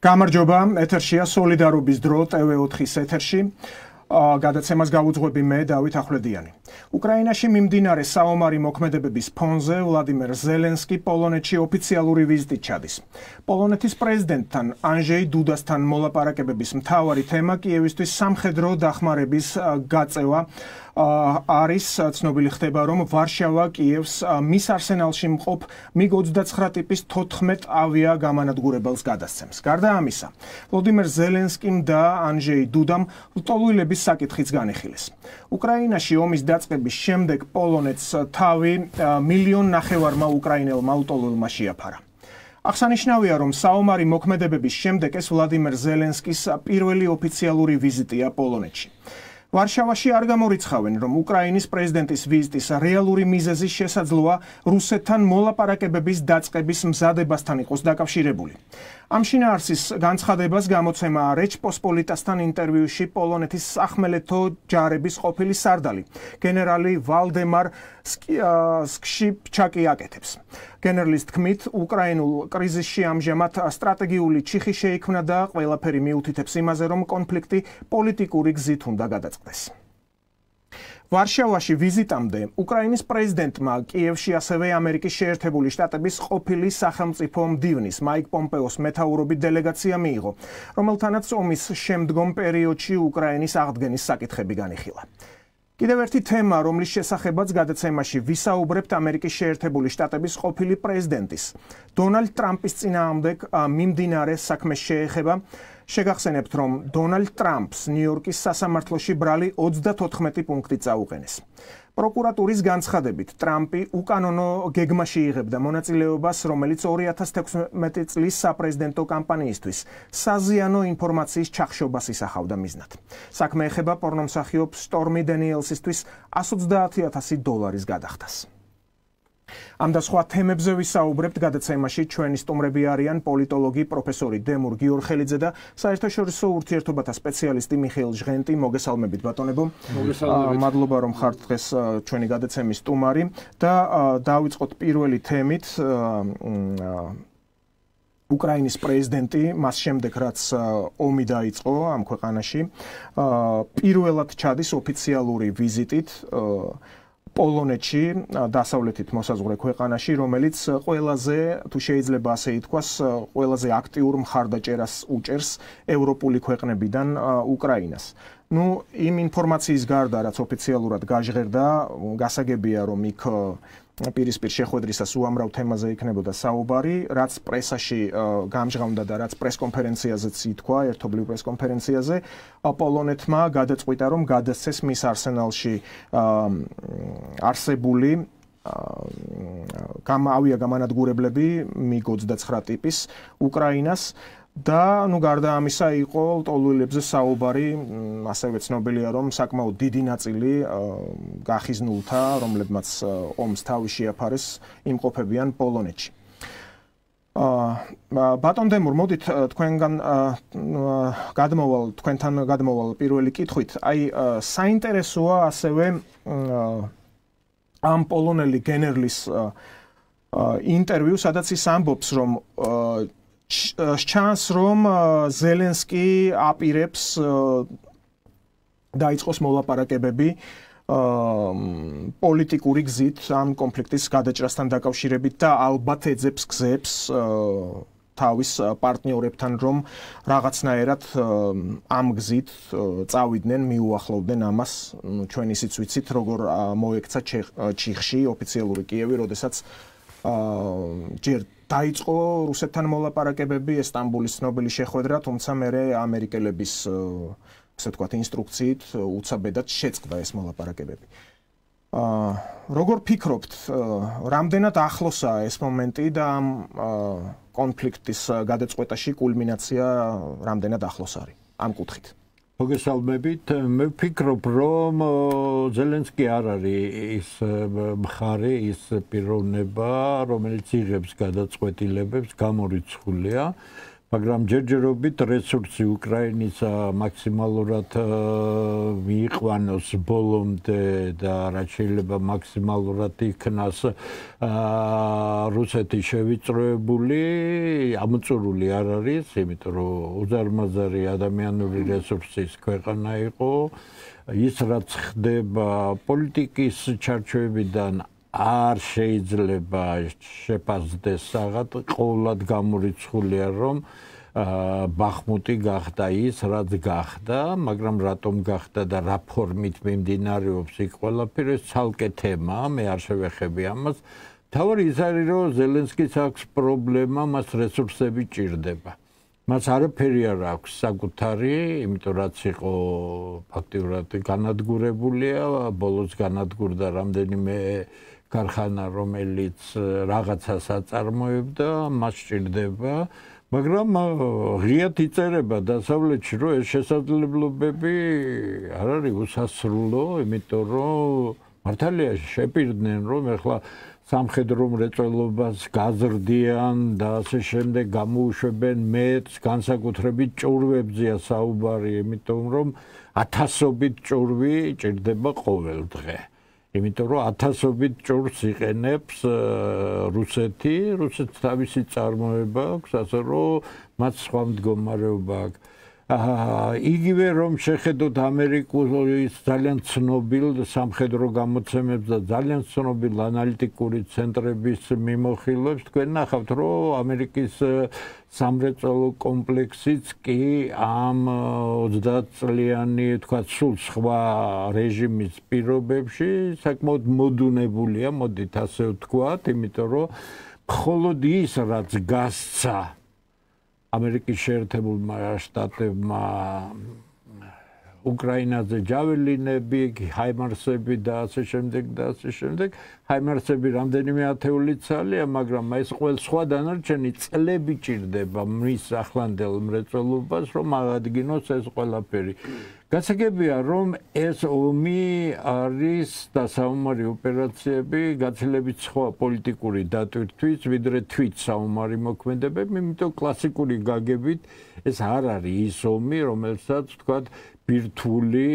გამარჯობა, ეთერშია სოლიდარობის დრო TV4-ის ეთერში. გადაცემას გავუძღვები მე დავით ახვლედიანი. უკრაინაში მიმდინარე საომარი მოქმედებების ფონზე ვლადიმერ ზელენსკი პოლონეთში ოფიციალური ვიზიტით ჩადის. პოლონეთის პრეზიდენტთან ანჟეი დუდასთან მოლაპარაკებების მთავარი თემა კიევისთვის სამხედრო დახმარების გაწევა არის ცნობილი ხდება, რომ ვარშავა კიევს მის არსენალში მყოფ MiG-29 ტიპის 14 ავია გამანადგურებელს გადასცემს. გარდა ამისა, ვლადიმერ ზელენსკიმ და ანჟეი დუდამ ლტოლვილების საკითხიც განიხილეს. უკრაინაში ომის დაწყების შემდეგ პოლონეთს თავი 1,5 მილიონმა უკრაინელმა ლტოლვილმა შეაფარა. აღსანიშნავია, რომ საომარი მოქმედებების შემდეგ ეს ვლადიმერ ზელენსკის პირველი ოფიციალური ვიზიტია პოლონეთში. ვარშავაში არ გამორიცხავენ, რომ უკრაინის პრეზიდენტის ვიზიტის რეალური მიზეზი შესაძლოა რუსეთთან მოლაპარაკებების დაწყების მზადებასთან იყოს დაკავშირებული. ამ შინაარსის განცხადებას გამოცემა რეჩპოსპოლიტასთან ინტერვიუში პოლონეთის სახმელეთო ჯარების ყოფილი სარდალი, გენერალი ვალდემარ სკშიპჩაკი აკეთებს. გენერლის თქმით, უკრაინულ კრიზისში ამჟამად სტრატეგიული ჩიხი შეიქმნა და ყველაფერი მიუთითებს იმაზე, რომ კონფლიქტი პოლიტიკური გზით უნდა გადაწყდეს. ვარშავაში ვიზიტამდე უკრაინის პრეზიდენტმა კიევში ასევე ამერიკის შეერთებული შტატების ყოფილი სახელმწიფო მდივნის მაიკ პომპეოს მეთაურობით დელეგაცია მიიღო, რომელთანაც ომის შემდგომ პერიოდში უკრაინის აღდგენის საკითხები განიხილა. კიდევ ერთი თემა, რომლის შესახებაც გადაცემაში ვისაუბრებთ ამერიკის შეერთებული შტატების ყოფილი პრეზიდენტის დონალდ ტრამპის წინააღმდეგ მიმდინარე საქმეს შეეხება. შეგახსენებთ, რომ დონალდ ტრამპს ნიუ-იორკის სასამართლოში ბრალი 34 პუნქტი წაუყენეს. პროკურატურის განცხადებით, ტრამპი უკანონო გეგმაში იღებდა მონაწილეობას, რომელიც 2016 წლის საპრეზიდენტო კამპანიისთვის საზიანო ინფორმაციის ჩახშობას ისახავდა მიზნად. საქმე ეხება პორნომსახიობ სტორმი დენიელსისთვის $130,000 გადახდას. ამ და სხვა თემებზე ვისაუბრებთ გადაცემაში. ჩვენი სტუმრები არიან პოლიტოლოგი პროფესორი დემურ გიორხელიძე და საერთაშორისო ურთიერთობათა სპეციალისტი მიხეილ ჟღენტი. მოგესალმებით ბატონებო. მადლობა რომ ხართ დღეს ჩვენი გადაცემის სტუმარი და დავიწყოთ პირველი თემით. უკრაინის პრეზიდენტი მას შემდეგ რაც ომი დაიწყო ამ ქვეყანაში პირველად ჩადის ოფიციალური ვიზიტით პოლონეთში, დასავლეთით მოსაზღვრე ქვეყანაში, რომელიც ყველაზე, თუ შეიძლება ასე ითქვას, ყველაზე აქტიურ მხარდაჭერას უჭერს ევროპული ქვეყნებიდან უკრაინას. იმ ინფორმაციის გარდა, რაც ოფიციალურად გაჟღერდა, გასაგებია, რომ იქ პირისპირ შეხვედრისას უამრავ თემაზე იქნებოდა საუბარი, რაც პრესაში გამჟღავნდა და რაც პრესკონფერენციაზეც ითქვა, ერთობლივ პრესკონფერენციაზე, პოლონეთმა გადაწყვიტა, რომ გადასცეს მის არსენალში არსებული ავია გამანადგურებლები MiG-29 ტიპის უკრაინას. და გარდა ამისა იყო ლტოლვილებზე საუბარი, ასევე ცნობილია, რომ საკმაოდ დიდი ნაწილი გახიზნულთა, რომლებმაც ომს თავი შეაფარეს, იმყოფებიან პოლონეთში. ბატონ დემურ, მოდით თქვენთან გადმოვალ პირველი კითხვით. საინტერესოა ასევე ამ პოლონელი გენერლის ინტერვიუ, სადაც ის ამბობს, რომ ჩანს, რომ ზელენსკი აპირებს დაიწყოს მოლაპარაკებები პოლიტიკური გზით ამ კონფლიქტის გადაჭრასთან დაკავშირებით და ალბათ ეძებს გზებს თავის პარტნიორებთან, რომ რაღაცნაირად ამ გზით წავიდნენ, მიუახლოვდნენ ამას. ჩვენ ისიც ვიცით, როგორ მოექცა ჩიხში ოფიციალური კიევი, როდესაც ჯერ დაიწყო რუსეთთან მოლაპარაკებები, ესტანბულის ცნობილი შეხვედრა, თუმცა მერე ამერიკელების ასე ვთქვათ ინსტრუქციით უცაბედად შეწყდა ეს მოლაპარაკებები. როგორ ფიქრობთ, რამდენად ახლოსაა ეს მომენტი და ამ კონფლიქტის გადაწყვეტაში კულმინაცია რამდენად ახლოს არის ამ კუთხით? მოგესალმებით. მე ვფიქრობ, რომ ზელენსკი არ არის ის მხარე, ის პიროვნება, რომელიც იღებს გადაწყვეტილებებს, გამორიცხულია. მაგრამ ჯერჯერობით რესურსი უკრაინის მაქსიმალურად მიიყვანოს ბოლომდე და რაც შეიძლება მაქსიმალურად იქნას რუსეთი შევიწროებული, ამოწურული არ არის, იმიტომ რომ უზარმაზარი ადამიანური რესურსის ქვეყანა იყო. ის რაც ხდება პოლიტიკის ჩარჩოებიდან არ შეიძლება შეფასდეს საღად, ყოველად გამორიცხულია რომ ბახმუტი გახდა ის, რაც გახდა, მაგრამ რატომ გახდა და რა ფორმით მიმდინარეობს იქ ყველაფერი ცალკე თემაა, მე არ შევეხები ამას. თავი ის არის, რომ ზელენსკის აქვს პრობლემა, მას რესურსები ჭირდება. მას არაფერი არ აქვს საკუთარი, იმიტომ რაც იყო ფაქტიურად განადგურებულია, ბოლოს განადგურდა რამდენიმე ქარხანა, რომელიც რაღაცას აწარმოებდა, მას ჭირდება, მაგრამ ღიად იწერება დასავლეთში, რომ ეს შესაძლებლობები არ არის უსასრულო, იმიტომ რომ მართალია შეპირდნენ, რომ ეხლა სამხედრო მრეწველობას გაზრდიან და ასე შემდეგ გამოუშვებენ მეტს, განსაკუთრებით ჭურვებზეა საუბარი, იმიტომ რომ ათასობით ჭურვი ჭირდება ყოველ დღე. იმიტომ რომ ათასობით ჭურვს იყენებს რუსეთი თავისი წარმოება აქვს, ასე რომ მათ სხვა მდგომარეობა აქვს. იგივე რომ შეხედოთ ამერიკის ძალიან ცნობილ სამხედრო გამოცემებს და ძალიან ცნობილ ანალიტიკური ცენტრების მიმოხილვებს, თქვენ ნახავთ, რომ ამერიკის სამრეწველო კომპლექსიც კი ამ 30 წლიანი, თქვა, სულ სხვა რეჟიმის პირობებში საკმაოდ მოდუნებულია, მოდით ასე ვთქვათ, იმიტომ რომ მხოლოდ ის, რაც გასცა ამერიკის შეერთებულმა შტატებმა უკრაინაზე ჯაველინები, ჰაიმარსები და ასე შემდეგ, ჰაიმარსები რამდენიმე ათეული ცალია, მაგრამ ეს ყველა სხვა დანარჩენი წლები ჭირდება მის ახლანდელ მრეწველობას, რომ აღადგინოს ეს ყველაფერი. გასაგებია, რომ ეს ომი არის და საომარი ოპერაციები გაცილებით სხვა პოლიტიკური დატვირთვის, ვიდრე თვით საომარი მოქმედებები, იმიტომ კლასიკური გაგებით ეს არ არის ის ომი, რომელსაც ვთქვათ ბირთვული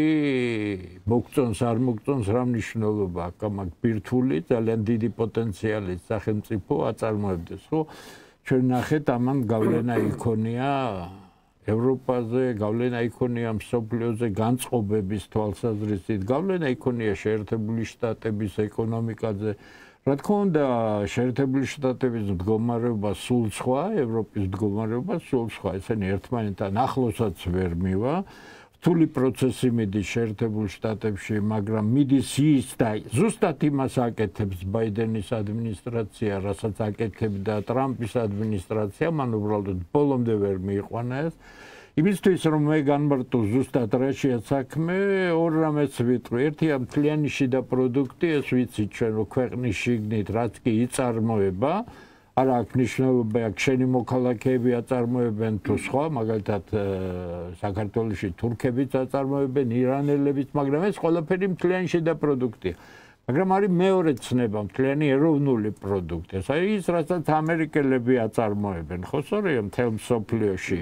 მოგწონს არ მოგწონს რა მნიშვნელობა აქვს ამ ბირთვული ძალიან დიდი პოტენციალის სახელმწიფო აწარმოებდეს, ხო? ჩვენ ნახეთ ამან გავლენა იქონია ევროპაზე, გავლენა იქონია მსოფლიოზე განწყობების თვალსაზრისით, გავლენა იქონია შეერთებული შტატების ეკონომიკაზე. რა თქმა უნდა, შეერთებული შტატების მდგომარეობა სულ სხვა, ევროპის მდგომარეობა სულ სხვა, ესენი ერთმანეთთან ახლოსაც ვერ მივა. რთული პროცესი მიდის შეერთებულ შტატებში, მაგრამ მიდის ის და ზუსტად იმას აკეთებს ბაიდენის ადმინისტრაცია, რასაც აკეთებდა ტრამპის ადმინისტრაცია, მან უბრალოდ ბოლომდე ვერ მიიყვანა ეს. იმისთვის რომ მე განმარტო ზუსტად რაშია საქმე, ორ რამეს ვიტყვი. ერთია მთლიანი შიდა პროდუქტი, ეს ვიცით ჩვენ რომ ქვეყნის შიგნით რაც კი იწარმოება, არ აქვს მნიშვნელობა, აქ შენი მოქალაქეები აწარმოებენ თუ სხვა, მაგალითად საქართველოში თურქებიც აწარმოებენ, ირანელებიც, მაგრამ ეს ყველაფერი მთლიანი შიდა პროდუქტია. მაგრამ არის მეორე ცნება, მთლიანი ეროვნული პროდუქტი. ეს არის ის, რასაც ამერიკელები აწარმოებენ, ხო, სწორია მთელ მსოფლიოში.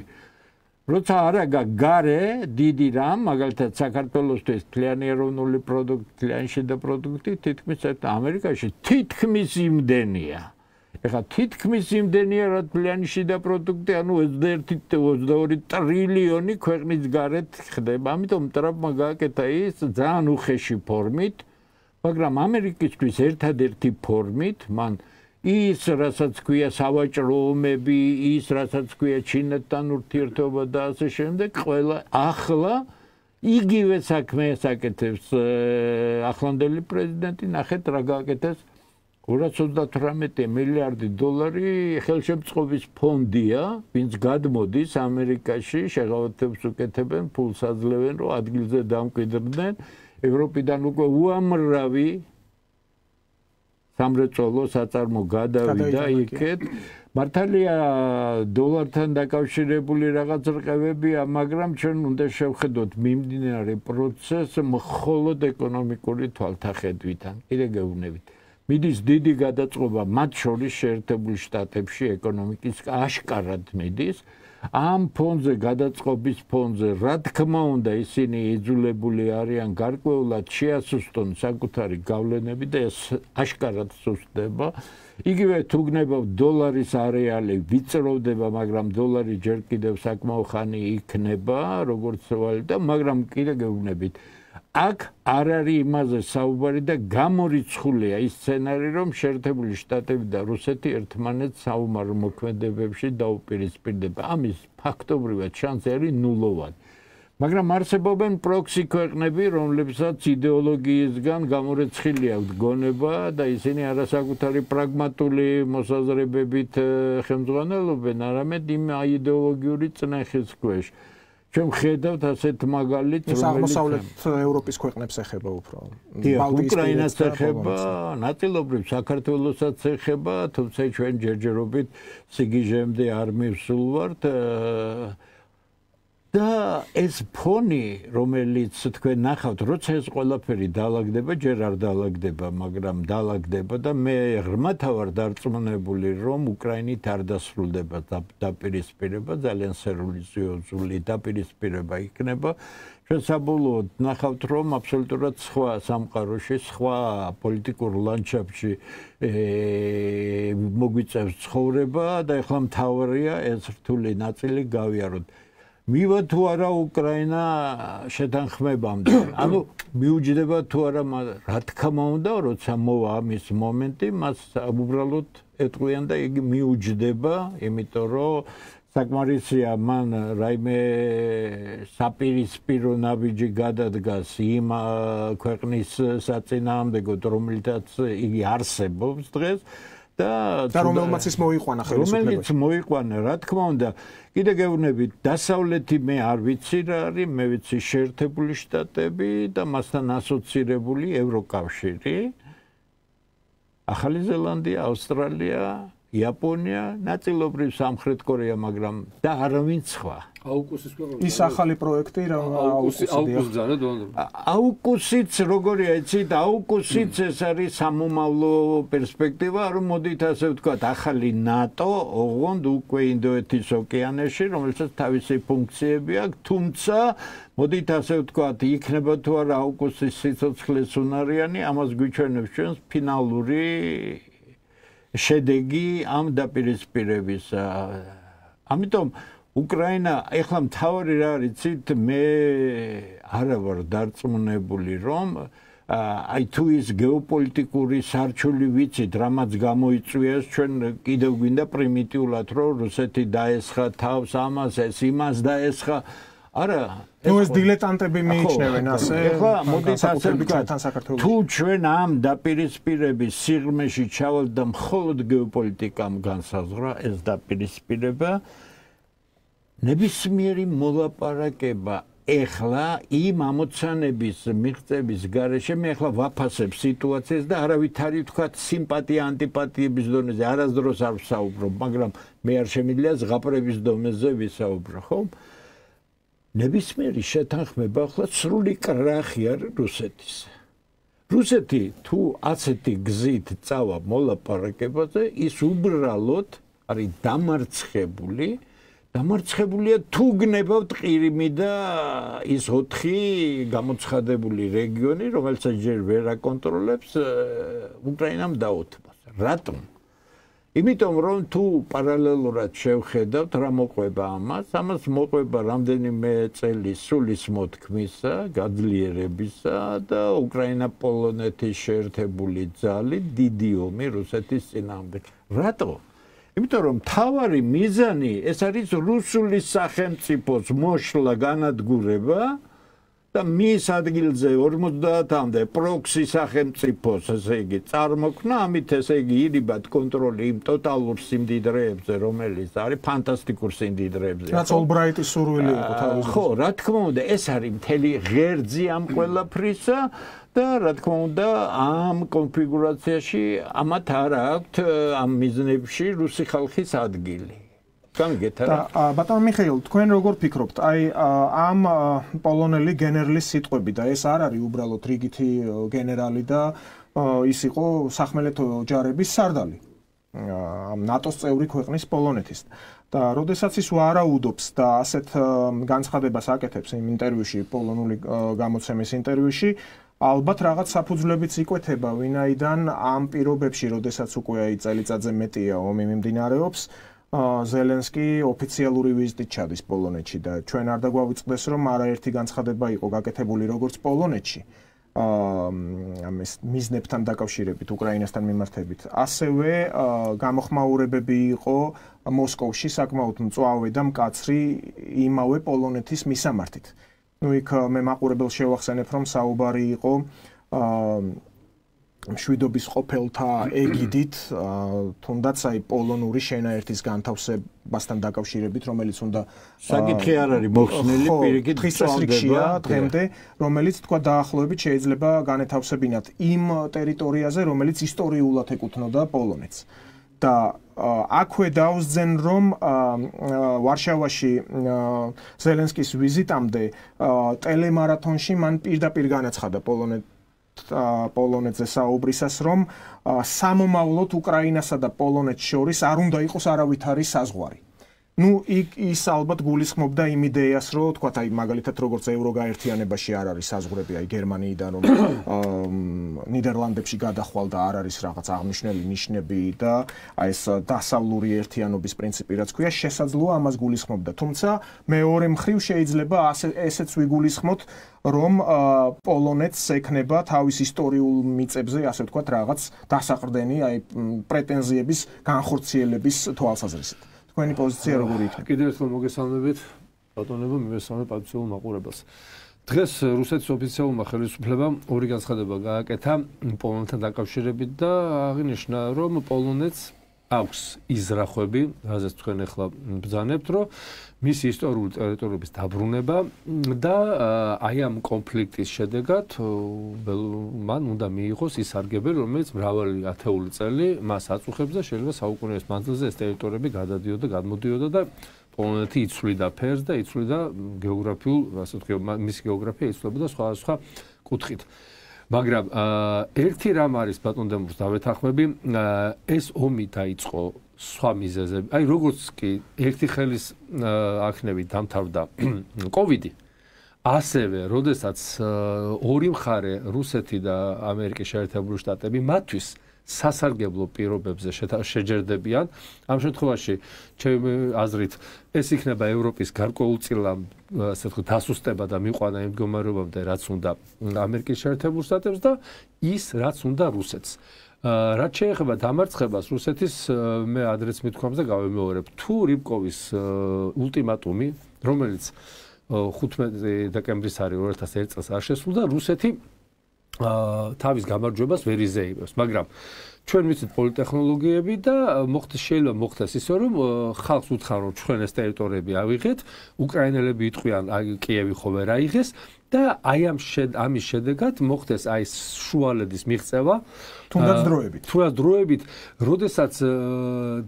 როცა არა გარე დიდი რამ, მაგალითად საქართველოსთვის მთლიანი ეროვნული პროდუქტი, მთლიანი შიდა პროდუქტი თითქმის ამერიკაში თითქმის იმდენია. ეხლა თითქმის იმდენია რა მთლიანი შიდა პროდუქტი, ანუ 21-22 ტრილიონი ქვეყნის გარეთ ხდება. ამიტომ ტრამპმა გააკეთა ის ძალიან უხეში ფორმით, მაგრამ ამერიკისთვის ერთადერთი ფორმით, მან ის, რასაც ქვია სავაჭრო ომები, ის, რასაც ქვია ჩინეთთან ურთიერთობა და ასე შემდეგ, ყველა ახლა იგივე საქმეს აკეთებს ახლანდელი პრეზიდენტი, ნახეთ რა გააკეთეს 238 მილიარდი დოლარი ხელშემწყობის ფონდია, ვინც გადმოდის ამერიკაში, შეღავათებს უკეთებენ, ფულს აძლევენ, რომ ადგილზე დამკვიდრდნენ, ევროპიდან უკვე უამრავი სამრეწველო საწარმო გადავიდა იქეთ. მართალია დოლართან დაკავშირებული რაღაც რყევებია, მაგრამ ჩვენ უნდა შევხედოთ მიმდინარე პროცესს მხოლოდ ეკონომიკური თვალთახედვითან. კიდე გეუბნებით. მიდის დიდი გადაწყობა მათ შორის შეერთებულ შტატებში ეკონომიკის აშკარად მიდის. ამ ფონზე გადაწყობის ფონზე რა თქმა უნდა ისინი იძულებული არიან გარკვეულად შეასუსტონ საკუთარი გავლენები და ეს აშკარად სუსტდება. იგივე თუ გნებავ დოლარის არეალი ვიწროვდება, მაგრამ დოლარი ჯერ კიდევ საკმაო ხანი იქნება, როგორც ვალუტა, მაგრამ კიდე გეუბნებით. აქ არ არის იმაზე საუბარი და გამორიცხულია ის სცენარი, რომ შეერთებული შტატები და რუსეთი ერთმანეთს საომარ მოქმედებებში დაუპირისპირდება. ამის ფაქტობრივად შანსი არის ნულოვანი. მაგრამ არსებობენ პროქსი ქვეყნები, რომლებსაც იდეოლოგიისგან გამორიცხილი აქვს გონება და ისინი არასაკუთარი პრაგმატული მოსაზრებებით ხელმძღვანელობენ, არამედ იმ აიდეოლოგიური წნეხის ქვეშ. ჩვენ ხედავთ ასეთ მაგალითს, რომელიც აღმოსავლეთ ევროპის ქვეყნებს ეხება უფრო. უკრაინას ეხება, ნაწილობრივ საქართველოსაც ეხება, თუმცა ჩვენ ჯერჯერობით სიგიჟემდე არ მივსულვართ. და ეს ფონი, რომელიც თქვენ ნახავთ, როცა ეს ყველაფერი დაალაგდება, ჯერ არ დაალაგდება, მაგრამ დაალაგდება და მე ღრმათ ვარ დარწმუნებული, რომ უკრაინით არ დასრულდება დაპირისპირება, ძალიან სერიოზული დაპირისპირება იქნება. ჩვენ საბოლოოდ ნახავთ, რომ აბსოლუტურად სხვა სამყაროში, სხვა პოლიტიკურ ლანდშაფტში მოგვიწევს ცხოვრება და ეხლა მთავარია ეს რთული ნაწილი გავიაროთ. მივა თუ არა უკრაინა შეთანხმებამდე. ანუ მიუჯდება თუ არა, რა თქმა უნდა, როცა მოვა ამის მომენტი, მას უბრალოდ ეტყვიან და იგი მიუჯდება, იმიტომ რომ საკმარისია მან რაიმე საპირისპირო ნაბიჯი გადადგას იმ ქვეყნის საწინააღმდეგოდ, რომელთაც იგი არსებობს დღეს. და რომელმაც ის მოიყვანა ხელისუფლებაში. რომელიც მოიყვანა, რა თქმა უნდა, კიდე გეუბნებით, დასავლეთი მე არ ვიცი რა არის, მე ვიცი შეერთებული შტატები და მასთან ასოცირებული ევროკავშირი, ახალი ზელანდია, ავსტრალია, იაპონია, ნაწილობრივ სამხრეთ კორეა, მაგრამ და არავინ სხვა. ის ახალი პროექტი აუკუსიც როგორია იცით, აუკუსიც ეს არის სამომავლო პერსპექტივა, რომ მოდით ასე ვთქვათ, ახალი ნატო, ოღონდ უკვე ინდოეთის ოკეანეში, რომელსაც თავისი ფუნქციები აქვს, თუმცა მოდით ასე ვთქვათ, იქნება თუ არა აუკუსის სიცოცხლის უნარიანი, ამას გვიჩვენებს ჩვენს ფინალური შედეგი ამ დაპირისპირებისა. ამიტომ უკრაინა ეხლა მთავარი რა არის, იცით, მე არა ვარ დარწმუნებული, რომ აი თუ ის გეოპოლიტიკური სარჩული ვიცით, რამაც გამოიწვიეს, ჩვენ კიდევ გვინდა პრიმიტიულად, რომ რუსეთი დაესხა თავს ამას, ეს იმას დაესხა. არა, ეს დილეტანტები მიიჩნევენ ასე. ეხლა მოდით ასე ვთქვათ, თუ ჩვენ ამ დაპირისპირების სიღრმეში ჩავალთ და მხოლოდ გეოპოლიტიკამ განსაზღვრა ეს დაპირისპირება, ნებისმიერი მოლაპარაკება ეხლა იმ ამოცანების მიღწევის გარეშე მე ეხლა ვაფასებ სიტუაციას და არავითარი ვთქვათ სიმპათია ანტიპათიების დონეზე არასდროს არ ვსაუბრობ, მაგრამ მე არ შემიძლია ზღაპრების დონეზე ვისაუბრო, ხო? ნებისმიერი შეთანხმება ახლა სრული კრახი არის რუსეთის. რუსეთი თუ ასეთი გზით წავა მოლაპარაკებაზე, ის უბრალოდ არის დამარცხებულია თუ გნებავთ ყირიმი და ის 4 გამოცხადებული რეგიონი, რომელსაც ჯერ ვერ აკონტროლებს, უკრაინამ დაუთმოს. რატომ? იმიტომ რომ თუ პარალელურად შევხედავთ რა მოყვება ამას მოყვება რამდენიმე წელი სულის მოთქმისა, გაძლიერებისა და უკრაინა-პოლონეთის შეერთებული ძალი დიდი ომი რუსეთის წინააღმდეგ. რატო? იმიტომ რომ მთავარი მიზანი ეს არის რუსული სახელმწიფოს მოშლა, განადგურება და მის ადგილზე 50-მდე პროქსი სახელმწიფოს, ესე იგი, წარმოქმნა, ამით ესე იგი ირიბად კონტროლი იმ ტოტალურ სიმდიდრეებზე, რომელიც არის ფანტასტიკურ სიმდიდრეებზე. რაც ოლბრაიტის სურვილი იყო თავის. ხო, რა თქმა უნდა, ეს არის მთელი ღერძი ამ ყველაფრისა და რა თქმა უნდა, ამ კონფიგურაციაში ამათ არ აქვთ ამ მიზნებში რუსი ხალხის ადგილი. ბატონო მიხეილ, თქვენ როგორ ფიქრობთ? აი ამ პოლონელი გენერლის სიტყვები და ეს არ არის უბრალოდ რიგითი გენერალი და ის იყო სახმელეთო ჯარების სარდალი. ამ ნატოს წევრი ქვეყნის პოლონეთის. და როდესაც ის ვარაუდობს და ასეთ განცხადებას აკეთებს იმ ინტერვიუში, პოლონური გამოცემის ინტერვიუში, ალბათ რაღაც საფუძვლებიც იკვეთება, ვინაიდან ამ პირობებში, როდესაც უკვე წელიწადზე მეტია ომი მიმდინარეობს, ზელენსკი ოფიციალური ვიზიტით ჩადის პოლონეთში და ჩვენ არ დაგვავიწყდეს, რომ არაერთი განცხადება იყო გაკეთებული როგორც პოლონეთში, ამის მიზნებთან დაკავშირებით, უკრაინასთან მიმართებით. ასევე გამოხმაურებები იყო მოსკოვში საკმაოდ მწვავე და მკაცრი იმავე პოლონეთის მისამართით. იქ მე მაყურებელს შევახსენებ, რომ საუბარი იყო მშვიდობის ყოფილთა ეგიდით, თუნდაც აი პოლონური შენაერთის განთავსებასთან დაკავშირებით, რომელიც უნდა საკითხი არ არის მოხსნილი, პირიქით წვავდება დღემდე, რომელიც თქვა დაახლოებით შეიძლება განეთავსებინათ იმ ტერიტორიაზე, რომელიც ისტორიულად ეკუთვნოდა პოლონეთს. და აქვე დავსძენ, რომ ვარშავაში ზელენსკის ვიზიტამდე ტელემარათონში მან პირდაპირ განაცხადა პოლონეთზე საუბრისას, რომ სამომავლოდ უკრაინასა და პოლონეთს შორის არ უნდა იყოს არავითარი საზღვარი. ის ალბათ გულისხმობდა იმ იდეას, რომ თქვა, აი მაგალითად როგორც ევროგაერთიანებაში არ არის საზღვრები, აი გერმანიიდან რომ ნიდერლანდებში გადახვალ და არ არის რაღაც აღნიშნული ნიშნები და აი ეს დასავლური ერთიანობის პრინციპი რაც ქვია, შესაძლოა ამას გულისხმობდა. თუმცა მეორე მხრივ შეიძლება ესეც ვიგულისხმოთ, რომ პოლონეთს ექნება თავის ისტორიულ მიწებზე, ასე ვთქვათ, რაღაც დასაყრდენი, აი პრეტენზიების განხორციელების თვალსაზრისით. თქვენი პოზიცია როგორი იქნება? კიდევ ერთხელ მოგესალმებით, ბატონებო, მივესალმებ პატიციურ მაყურებელს. დღეს რუსეთის ოფიციალურმა ხელისუფლებამ ორი განცხადება გააკეთა პოლონეთთან დაკავშირებით და აღინიშნა, რომ პოლონეთს აქვს იზრახვები, რაზეც თქვენ ახლა ბრძანებთ, რომ მისი ისტორიული ტერიტორიების დაბრუნება და აი ამ კონფლიქტის შედეგად მან უნდა მიიღოს ის სარგებელი, რომელიც მრავალი ათეული წელი მას აწუხებს და შეიძლება საუკუნეების მანძილზე ეს ტერიტორიები გადადიოდა, გადმოდიოდა და პოლონეთი იცვლიდა ფერს და იცვლიდა გეოგრაფიულ, ასე ვთქვი, მისი გეოგრაფია იცვლებოდა სხვადასხვა კუთხით. მაგრამ ერთი რამ არის ბატონ დემურს დავეთანხმები, ეს ომი დაიწყო სხვა მიზეზები. აი როგორც კი ერთი ხელის აქნებით დამთავრდა კოვიდი, ასევე როდესაც ორი მხარე რუსეთი და ამერიკის შეერთებული შტატები მათთვის სასარგებლო პირობებზე შეჯერდებიან. ამ შემთხვევაში ჩემი აზრით ეს იქნება ევროპის გარკვეულწილა ასე ვთქვათ დასუსტება და მიყვანა იმ მდგომარეობამდე, რაც უნდა ამერიკის შეერთებულ შტატებს და ის რაც უნდა რუსეთს. რაც შეეხება დამარცხებას რუსეთის მე ადრეც მithქვამს და გავემეორებ, თუ რიბკოვის ულტიმატუმი, რომელიც 15 დეკემბრის არის 2001 წელს არ შესრულდა, რუსეთი თავის გამარჯვებას ვერ იზეიმებს, მაგრამ ჩვენ ვიცით პოლიტექნოლოგიები და შეიძლება მოხდეს ისე, რომ ხალხს უთხრან, რომ ჩვენ ეს ტერიტორიები ავიღეთ, უკრაინელები იტყვიან, აი კიევი ხო ვერ აიღეს და აი ამის შედეგად მოხდეს აი შუალედის მიღწევა თუნდაც დროებით, როდესაც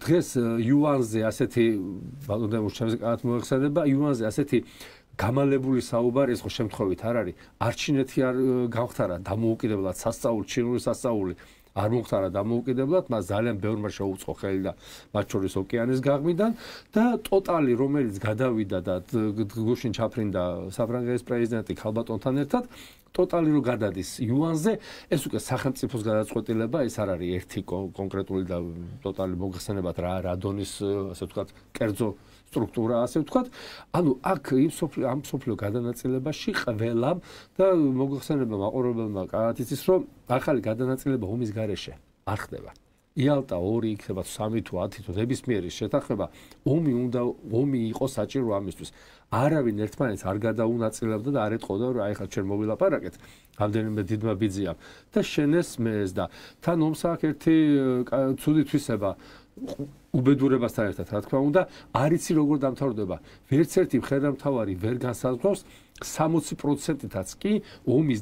დღეს იუანზე ასეთი ბატონო ჩემს კარგად მოეხსენება, იუანზე ასეთი გამალებული საუბარი ეს ხო შემთხვევით არ არის. არჩინეთი არ გავხტარა დამოუკიდებლად სასწაული, ჩინური სასწაული არ მოხტარა დამოუკიდებლად, მას ძალიან ბევრმა შეუწყო ხელი და მათ შორის ოკეანის გაღმიდან და ტოტალი რომელიც გადავიდა და გუშინ ჩაფრინდა საფრანგეთის პრეზიდენტი ქალბატონთან ერთად, ტოტალი რო გადადის იუანზე, ეს უკვე სახელმწიფოს გადაწყვეტილება, ეს არ არის ერთი კონკრეტული და ტოტალი მოგხსენებათ რა დონის, ასე ვთქვათ, კერძო სტრუქტურა, ასე ვთქვათ. ანუ აქ ამ სოფლიო გადანაწილებაში ყველამ და მოგხსენება მაყურებელმა კარგად იცის, რომ ახალი გადანაწილება ომის გარეშე არ ხდება. იალტა 2 იქნება 3 თუ 10 თუ ნებისმიერი შეთანხმება, ომი იყო საჭირო ამისთვის. არავინ ერთმანეთს არ გადაუნაწილებდა და არ ეტყოდა, რომ აი ხა ჩვენ მოვილაპარაკეთ, რამდენიმე დიდმა ბიძიამ და შენეს მეეს და თან ომს აქ ერთი ცუდი თვისება უბედურებასთან ერთად, რა თქმა უნდა, არ იცი როგორ დამთავრდება. ვერც ერთი მხედართმთავარი ვერ განსაზღვრავს 60%-იც კი ომის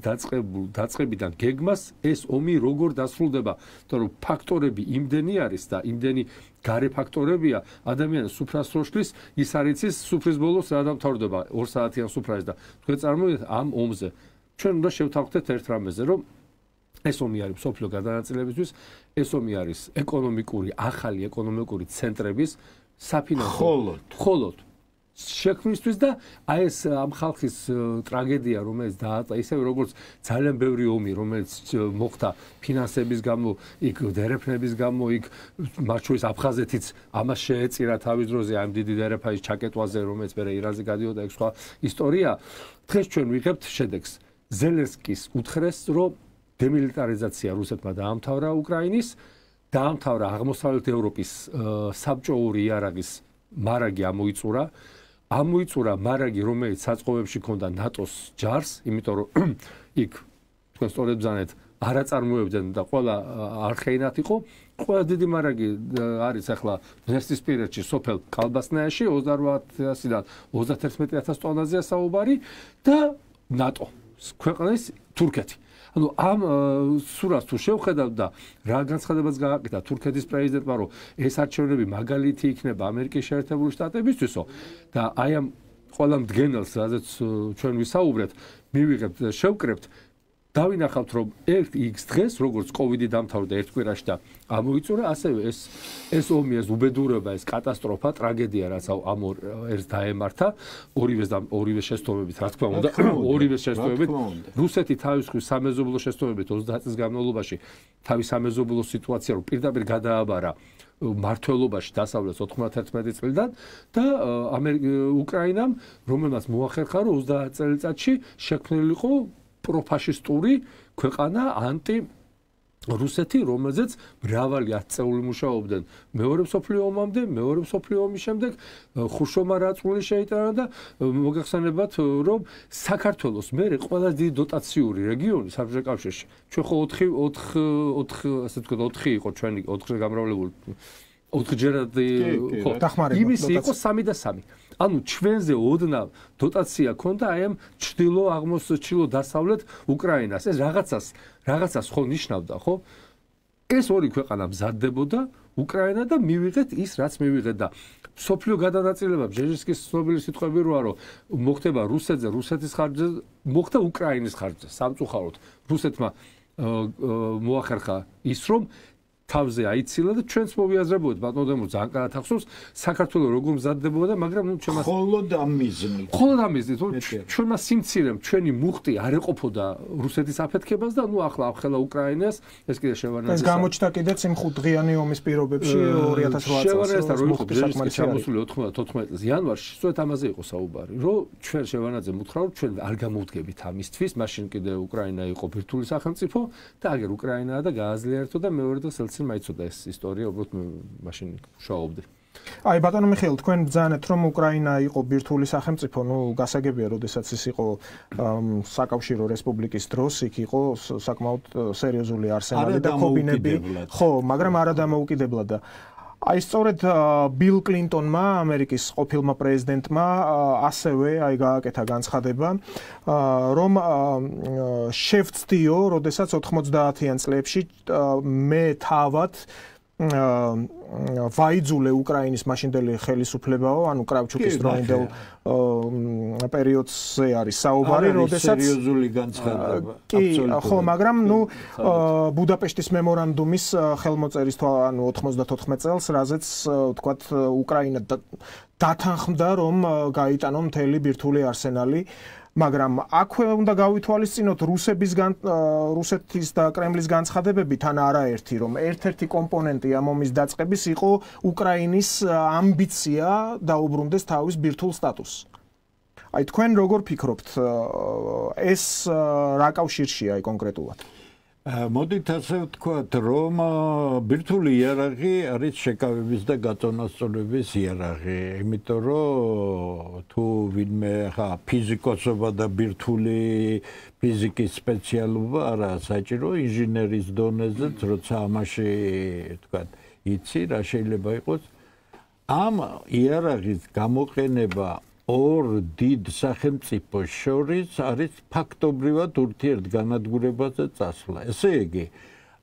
დაწყებიდან გეგმას ეს ომი როგორ დასრულდება, იმიტომ რომ ფაქტორები იმდენი არის და იმდენი გარე ფაქტორებია, ადამიანის სუფრას როშლის, ის არ იცის სუფრის ბოლოს რა დამთავრდება 2 საათიან სუფრაზე და თქვენ წარმოიდგინეთ ამ ომზე. ჩვენ უნდა შევთანხმდეთ ერთ რამეზე, რომ ეს ომი არის სოფლიო გადანაწილებისთვის, ეს ომი არის ახალი ეკონომიკური ცენტრების საფინანსო მხოლოდ შექმნისთვის და აი ეს ამ ხალხის ტრაგედია რომელიც დააწა ისევ როგორც ძალიან ბევრი ომი რომელიც მოხდა ფინანსების გამო იქ დერეფნების გამო იქ მათ შორის აფხაზეთიც ამას შეეწირა თავის დროზე ამ დიდი დერეფაის ჩაკეტვაზე რომელიც მერე ირანზე გადიოდა ეგ სხვა ისტორია დღეს ჩვენ ვიღებთ შედეგს ზელენსკის უთხრეს რომ დემილიტარიზაცია რუსეთმა დაამთავრა უკრაინის დაამთავრა აღმოსავლეთ ევროპის საბჭოური იარაღის მარაგი ამოიწურა მარაგი რომელიც საწყობებში ჰქონდა ნატოს ჯარს იმიტომ რომ იქ თქვენ სწორედ ბრძანეთ არა წარმოებდნენ და ყველა არხეინათ იყო ყველა დიდი მარაგი არის ახლა ზესტისპირეთში სოფელ კალბასნაიაში 28-დან 31000 ტონაზეა საუბარი და ნატო ქვეყნის თურქეთი ანუ ამ სურათს თუ შევხედავთ და რა განცხადებაც გააკეთა თურქეთის პრეზიდენტმა რომ ეს არჩევნები მაგალითი იქნება ამერიკის შეერთებული შტატებისთვისო და აი ამ ყველა მდგენელს რაზეც ჩვენ ვისაუბრეთ მივიღებთ შევკრებთ დავინახავთ რომ ერთ X დღეს როგორც კოვიდი დამთავრდა ერთ კვირაში და ამოიწურა ასევე ეს ომი ეს უბედურება ეს კატასტროფა ტრაგედია რაც ამ ერთს დაემართა ორივე შეცდომებით რა თქმა უნდა ორივე შეცდომებით რუსეთი თავის სამეზობლო შეცდომებით 30 წლის განმავლობაში თავის სამეზობლო სიტუაცია რომ პირდაპირ გადააბარა მართლობაში დასავლეთ 91 წლიდან და უკრაინამ რომელმაც მოახერხა რომ 30 წელიწადში შექმნილიყო პროფაშისტური ქვეყანა ანტი რუსეთი რომელზეც მრავალი ათწეული მუშაობდნენ მეორე მსოფლიო ომამდე მეორე მსოფლიო ომის შემდეგ ხუშოვმა რაწმული შეიტანა და მოგახსენებათ რომ საქართველოს მერე ყველაზე დიდი დოტაციური რეგიონი საბჭოთა კავშირში ჩვენ ხო 4 ასე ვთქვათ 4 იყო ჩვენი 4-ზე გამრავლებული 4-ჯერად ხო იმისი იყო 3 და 3 ანუ ჩვენზე ოდნავ დოტაცია ქონდა აი ამ ჩრდილო დასავლეთ უკრაინას ეს რაღაცას ხო ნიშნავდა ხო ეს ორი ქვეყანა მზადდებოდა უკრაინა და მივიღეთ ის რაც მივიღეთ და სოფლიო გადანაწილება ბჟეჟინსკის ცნობილი სიტყვები როა რომ მოხდება რუსეთზე რუსეთის ხარჯზე მოხდა უკრაინის ხარჯზე სამწუხაროდ რუსეთმა მოახერხა ის რომ თავზე აიცილა და ჩვენც მოვიაზრებოდით ბატონო ძალიან კარგად ახსოვს საქართველოს როგორ მზადდებოდა მაგრამ ნუ ჩემს ხოლოდ ამ მიზნით ჩვენმა სიმცირემ ჩვენი მუხტი არ ეყოფოდა რუსეთის აფეთქებას და ნუ ახლა ახლა უკრაინას ეს კიდე შევანაძე ეს გამოჩნდა კიდეც იმ 5დღიანი ომის პირობებში 2008 წელს რო იყო ბჟეჟინსკი ჩამოსული 94 წელს იანვარში სწორედ ამაზე იყო საუბარი რომ ჩვენ შევანაძე მუთხრა რომ ჩვენ არ გამოვდგებით ამისთვის მაშინ კიდე უკრაინა იყო ბირთვული სახელმწიფო და აგერ უკრაინაა და გააზლიერთო და მეორე დღეს მაიცოდა ეს ისტორია უბრალოდ მაშინ შაობდი. აი ბატონო მიხეილ თქვენ ბრძანეთ რომ უკრაინა იყო ბირთვული სახელმწიფო, ნუ გასაგებია, როდესაც ის იყო საკავშირო რესპუბლიკის დროს, იქ იყო საკმაოდ სერიოზული არსენალი და ქობინები, ხო, მაგრამ არა დამოუკიდებლად და აი სწორედ ბილ კლინტონმა, ამერიკის ყოფილმა პრეზიდენტმა ასევე აი გააკეთა განცხადება, რომ შევცდიო, როდესაც 90-იან წლებში მე თავად ვაიძულე უკრაინის მაშინდელი ხელისუფლებაო, ანუ კრავჩუკის დროინდელ პერიოდზე არის საუბარი, როდესაც სერიოზული განცხადება. ხო, მაგრამ ნუ ბუდაპეშტის მემორანდუმის ხელმოწერის ანუ 94 წელს, რაზეც ვთქვათ უკრაინა დათანხმდა, რომ გაიტანო მთელი ბირთვული არსენალი. მაგრამ აქვე უნდა გავითვალისწინოთ რუსეთის და კრემლის განცხადებები თან არაერთი, რომ ერთ-ერთი კომპონენტი ამ ომის დაწყების იყო უკრაინის ამბიცია დაუბრუნდეს თავის ბირთვულ სტატუსს. აი თქვენ როგორ ფიქრობთ, ეს რა კავშირშია აი კონკრეტულად? მოდით ასე ვთქვათ, რომ ბირთვული იარაღი არის შეკავების და გაწონასწორების იარაღი, იმიტომ რომ თუ ვინმე ხა ფიზიკოსობა და ბირთვული ფიზიკის სპეციალობა არა საჭირო ინჟინერის დონეზეც, როცა ამაში ვთქვათ, იცი რა შეიძლება იყოს ამ იარაღის გამოყენება ორ დიდ სახელმწიფოს შორის არის ფაქტობრივად ურთიერთგანადგურებაზე წასვლა. ესე იგი,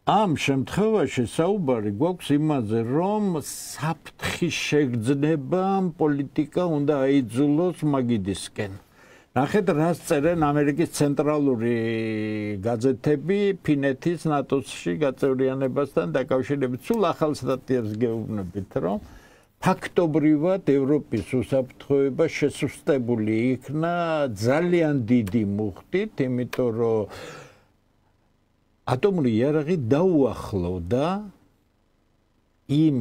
ამ შემთხვევაში საუბარი გვაქვს იმაზე, რომ საფრთხის შეგრძნება პოლიტიკა უნდა აიძულოს მაგიდისკენ. ნახეთ, რას წერენ ამერიკის ცენტრალური გაზეთები ფინეთის ნატოსში გაწევრიანებასთან დაკავშირებით. სულ ახალ სტატიებს გეუბნებით, რომ ფაქტობრივად ევროპის უსაფრთხოება შესუსტებული იქნა ძალიან დიდი მუხტით, იმიტომ რომ ატომური იარაღი დაუახლოვდა იმ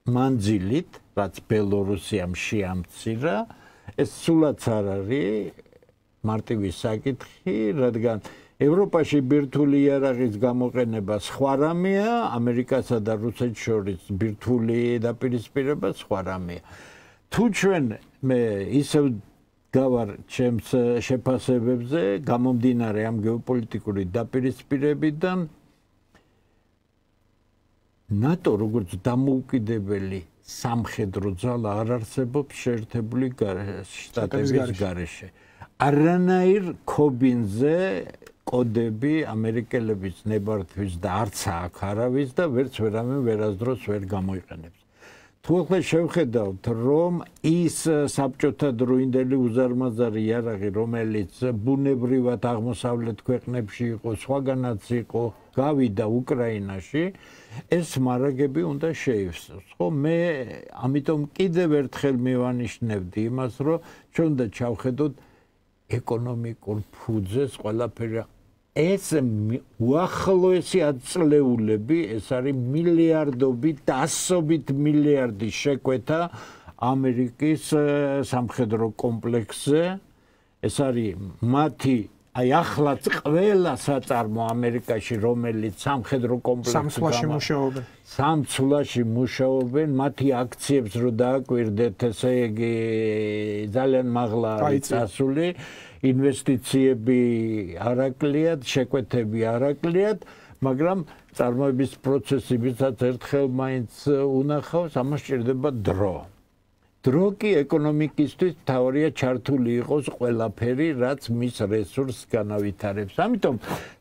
მანძილით, რაც ბელორუსიამ შეამცირა, ეს სულაც არ არის მარტივი საკითხი, რადგან ევროპაში ბირთვული იარაღის გამოყენება სხვა რამეა, ამერიკასა და რუსეთს შორის ბირთვული დაპირისპირება სხვა რამეა. თუ ჩვენ მე ისევ გავარ ჩემს შეფასებებზე, გამომდინარე ამ გეოპოლიტიკური დაპირისპირებიდან, ნატო როგორც დამოუკიდებელი სამხედრო ძალა არ არსებობს შეერთებული შტატების გარეშე. არანაირ ქობინზე კოდები ამერიკელების ნებართვის და არც აქ არავის და ვერც ვერამე ვერასდროს ვერ გამოიყენებს. თუ ახლა შევხედავთ, რომ ის საბჭოთა დროინდელი უზარმაზარი იარაღი, რომელიც ბუნებრივად აღმოსავლეთ ქვეყნებში იყო, სხვაგანაც იყო, გავიდა უკრაინაში, ეს მარაგები უნდა შეივსოს. ხო, მე ამიტომ კიდევ ერთხელ მივანიშნებდი იმას, რომ ჩვენ უნდა ჩავხედოთ ეკონომიკურ ფუძეს ყველაფერი. ეს უახლოესი ათწლეულები, ეს არის მილიარდობით, ასობით მილიარდი შეკვეთა ამერიკის სამხედრო კომპლექსზე. ეს არის მათი აი ახლაც ყველა საწარმო ამერიკაში, რომელიც სამხედრო კომპლექსში მუშაობენ. სამცვლაში მუშაობენ, მათი აქციებს რო დააკვირდეთ, ესე იგი ძალიან მაღლა არის წასული, ინვესტიციები არაკლიათ, შეკვეთები არაკლიათ, მაგრამ წარმოების პროცესი, ვისაც ერთხელ მაინც უნახავს, ამას სჭირდება დრო. დრო კი ეკონომიკისთვის თავარია ჩართული იყოს ყველაფერი, რაც მის რესურსს განავითარებს. ამიტომ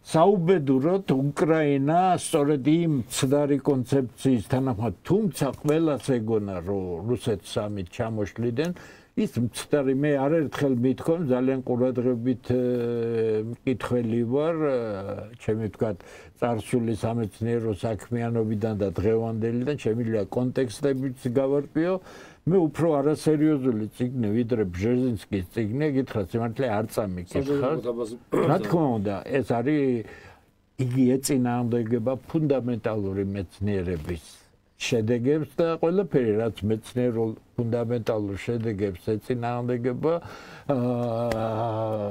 საუბედუროდ უკრაინა სწორედ იმ ცდარი კონცეფციის თანახმად, თუმცა ყველას ეგონა, რომ რუსეთს ამით ჩამოშლიდან, ის მცდარი მე არაერთხელ მithქონ, ძალიან ყურადღებით მკითხველი ვარ, ჩემი ვთქვათ, წარსული სამეცნიერო საქმიანობიდან და დღევანდელიდან, შემიძლია კონტექსტებიც გავარკვიო. მე უფრო არასერიოზული წიგნი, ვიდრე ბჟეზინსკის წიგნი, გითხრათ, სიმართლე არ წამიკითხავ. რა თქმა უნდა, ეს არის იგი ეწინააღმდეგება ფუნდამენტალური მეცნიერების შედეგებს და ყველაფერი, რაც მეცნიერულ ფუნდამენტალურ შედეგებს ეწინააღმდეგება,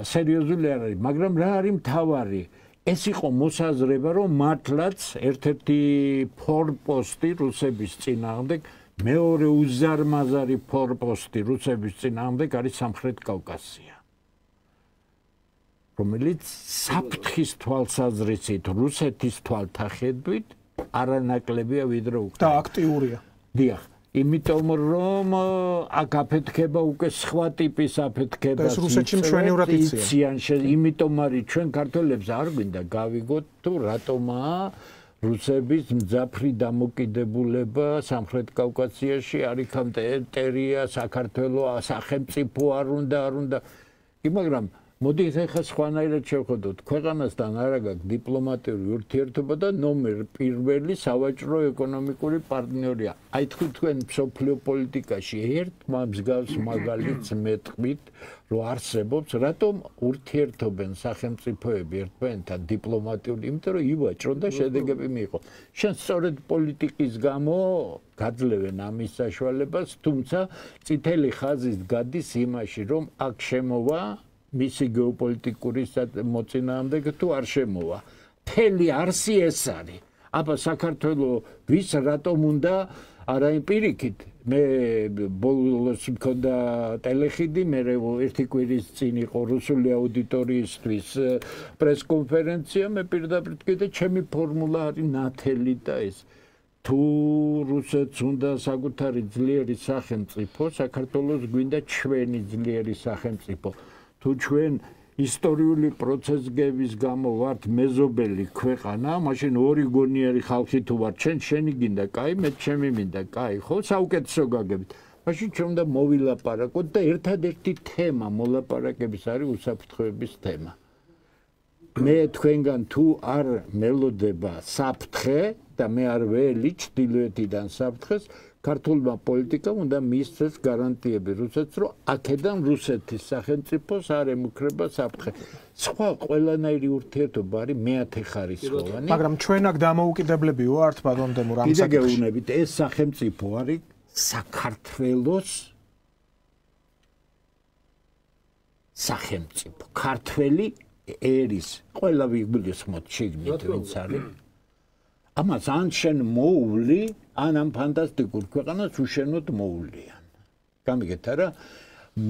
სერიოზული არ არის, მაგრამ რა არის მთავარი? ეს იყო მოსაზრება, რომ მართლაც ერთ-ერთი ფორპოსტი რუსების წინააღმდეგ, მეორე უზარმაზარი ფორპოსტი რუსების წინააღმდეგ არის სამხრეთ კავკასია, რომელიც საფრთხის თვალსაზრისით რუსეთის თვალთახედვით არანაკლებია ვიდრე უკრაინა. და აქტიურია. დიახ, იმიტომ რომ აქ აფეთქება უკვე სხვა ტიპის აფეთქება. ეს რუსეთში მშვენივრად იციან. იმიტომ არის ჩვენ ქართველებს არ გვინდა გავიგოთ თუ რატომაა რუსების მძაფრი დამოკიდებულება სამხრეთ კავკასიაში, არიქამ ტერიტორია, საქართველოს სახელმწიფო არ უნდა. კი, მაგრამ მოდით ახლა სხვანაირად შევხედოთ. ქვეყანასთან არა გაქვს დიპლომატიური ურთიერთობა და ნომერ პირველი სავაჭრო ეკონომიკური პარტნიორია. აი თქვენ მსოფლიო პოლიტიკაში ერთმა მსგავს მაგალითს მეტყვით, რომ არსებობს, რატომ ურთიერთობენ სახელმწიფოები ერთმანეთთან დიპლომატიური, იმიტომ რომ ივაჭრონ და შედეგები მიიღონ. შენ სწორედ პოლიტიკის გამო გაძლევენ ამის საშუალებას, თუმცა წითელი ხაზის გადის იმაში, რომ აქ შემოვა მისი გეოპოლიტიკური მოწინააღმდეგე თუ არ შემოვა. მთელი არსი ეს არის. აბა საქართველოს ვის რატომ უნდა არა პირიქით მე ბოლოს მქონდა ტელეხიდი, მე ერთი კვირის წინ იყო რუსული აუდიტორიისთვის პრესკონფერენცია, მე პირდაპირ კიდე ჩემი ფორმულა არის ნათელი და ეს თუ რუსეთს უნდა საკუთარი ძლიერი სახელმწიფო, საქართველოს გვინდა ჩვენი ძლიერი სახელმწიფო. თუ ჩვენ ისტორიული პროცესების გამო ვართ მეზობელი ქვეყანა, მაშინ ორი გონიერი ხალხი თუ ვართ, შენი გინდა, კაი, მე ჩემი მინდა, კაი, ხო, საუკეთესო გაგებით. მაშინ ჩვენ უნდა მოვილაპარაკოთ და ერთადერთი თემა მოლაპარაკების არის უსაფრთხოების თემა. მე თქვენგან თუ არ მელოდება საფრთხე და მე არ ველი ჩრდილოეთიდან საფრთხეს, ქართულმა პოლიტიკამ უნდა მისცეს გარანტიები რუსეთს, რომ აქედან რუსეთის სახელმწიფოს არ ემუქრება საფრთხე. სხვა ყველანაირი ურთიერთობა არის მეათე ხარისხოვანი. მაგრამ ჩვენ აქ დამოუკიდებლები ვართ ბატონ დემურ ამ საკითხში. კიდე გეუბნებით, ეს სახელმწიფო არის საქართველოს სახელმწიფო. ქართველი ერის ყველა ვიგულისხმოთ შიგნით ვინც არის. ამას ან შენ მოული, ან ამ ფანტასტიკურ ქვეყანას უშენოდ მოულიან. გამიგეთ არა?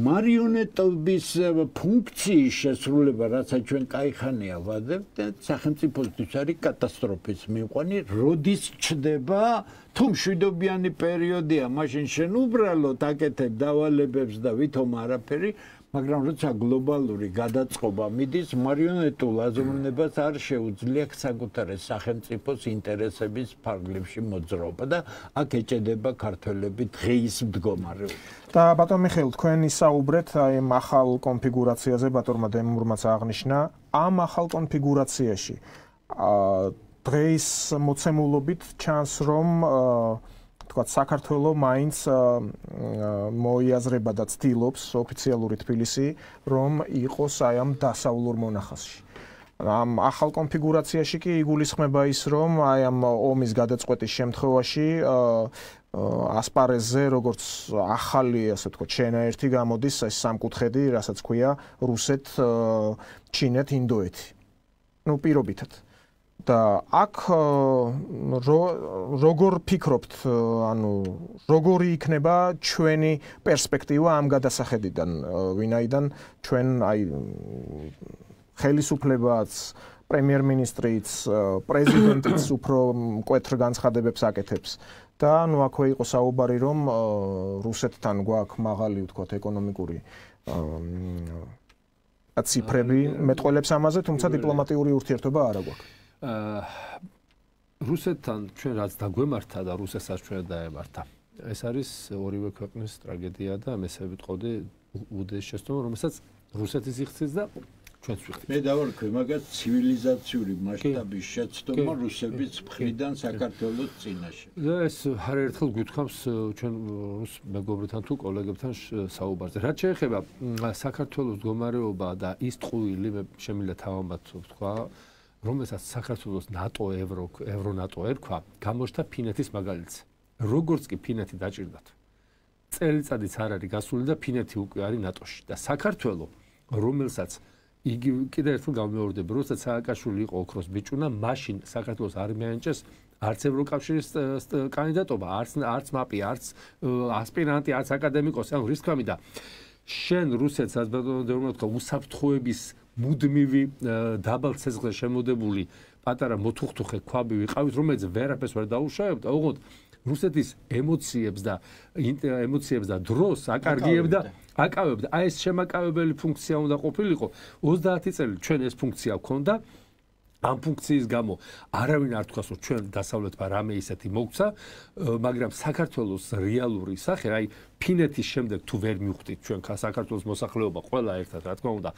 მარიონეტობის ფუნქციის შესრულება, რასაც ჩვენ კაიხანია ვადებთ, სახელმწიფოსთვის არის კატასტროფის მიღწევი, როდის ჩდება, თუ მშვიდობიანი პერიოდია, მაშინ შენ უბრალოდ აკეთებ დავალებებს და ვითომ არაფერი, მაგრამ როცა გლობალური გადაწყობა მიდის, მარიონეტულ აზროვნებას არ შეუძლია საკუთარი სახელმწიფოს ინტერესების ფარგლებში მოძრაობა და აქ ეჭედება ქართველები დღეის მდგომარეობა. და ბატონ მიხეილ, თქვენ ისაუბრეთ აი ამ ახალ კონფიგურაციაზე, ბატონმა დემურმაც აღნიშნა, ამ ახალ კონფიგურაციაში დღეის მოცემულობით ჩანს, რომ თქვა საქართველოს მაინც მოიაზრება და ცდილობს ოფიციალური თბილისი, რომ იყოს აი ამ დასავლურ მონახაზში. ამ ახალ კონფიგურაციაში კი იგულისხმება ის, რომ აი ამ ომის გადაწყვეტის შემთხვევაში ასპარეზზე, როგორც ახალი, ასე ვთქვათ, შენაერთი გამოდის ეს სამკუთხედი, რასაც ქვია რუსეთ, ჩინეთ, ინდოეთი. ნუ პირობითად. და აქ როგორ ფიქრობთ, ანუ როგორი იქნება ჩვენი პერსპექტივა ამ გადასახედიდან, ვინაიდან ჩვენ აი ხელისუფლებაც, პრემიერ-მინისტრიც, პრეზიდენტიც უფრო მკვეთრ განცხადებებს აკეთებს და ნუ აქვე იყო საუბარი, რომ რუსეთთან გვაქვს მაღალი, ვთქვათ, ეკონომიკური ციფრები, მეტყველებს ამაზე, თუმცა დიპლომატიური ურთიერთობა არ აქვს. რუსეთთან ჩვენ რაც დაგვემართა და რუსეთსაც ჩვენ დაემართა. ეს არის ორივე ქვეყნის ტრაგედია და მესე ვიტყოდი უდიდეს შეცდომა, რომელსაც რუსეთის იხცის და ჩვენც ვიხდით. მე დავარქვი მაგათ ცივილიზაციური მასშტაბის შეცდომა რუსების მხრიდან საქართველოს წინაშე. და ეს არაერთხელ გვითხოვს ჩვენ რუს მეგობრებთან თუ კოლეგებთან საუბარზე. რაც შეეხება საქართველოს მდგომარეობა და ის ტყუილი მე შემიძლია თავამბად ვთქვა, რომელსაც საქართველოს ნატო, ევრონატო ერქვა, გამოჩნდა ფინეთის მაგალითზე. როგორც კი ფინეთი დაჭირდათ. წელიწადიც არ არის გასული და ფინეთი უკვე არის ნატოში და საქართველო, რომელსაც იგი კიდე ერთხელ გამეორდები, როცა სააკაშვილი იყო ოქროს ბიჭუნა, მაშინ საქართველოს არ მიენჭეს არც ევროკავშირის კანდიდატობა, არც მაპი, არც ასპირანტი, არც აკადემიკოსი, ანუ რის გამიდა შენ რუსეთს ასე უსაფრთხოების მუდმივი დაბალ ცეცხლზე შემოდებული პატარა მოთუხთუხე ქვაბი ვიყავით, რომელიც ვერაფერს ვერ დაუშავებდა, ოღონდ რუსეთის ემოციებს და დროს აკარგიებდა, აკავებდა. აი ეს შემაკავებელი ფუნქცია უნდა ყოფილიყო. 30 წელი ჩვენ ეს ფუნქცია გვქონდა. ამ ფუნქციის გამო არავინ არ თქვას, რომ ჩვენ დასავლეთმა რამე ისეთი მოგცა, მაგრამ საქართველოს რეალური სახე, აი ფინეთის შემდეგ თუ ვერ მივხვდით ჩვენ საქართველოს მოსახლეობა ყველა ერთად, რა თქმა უნდა,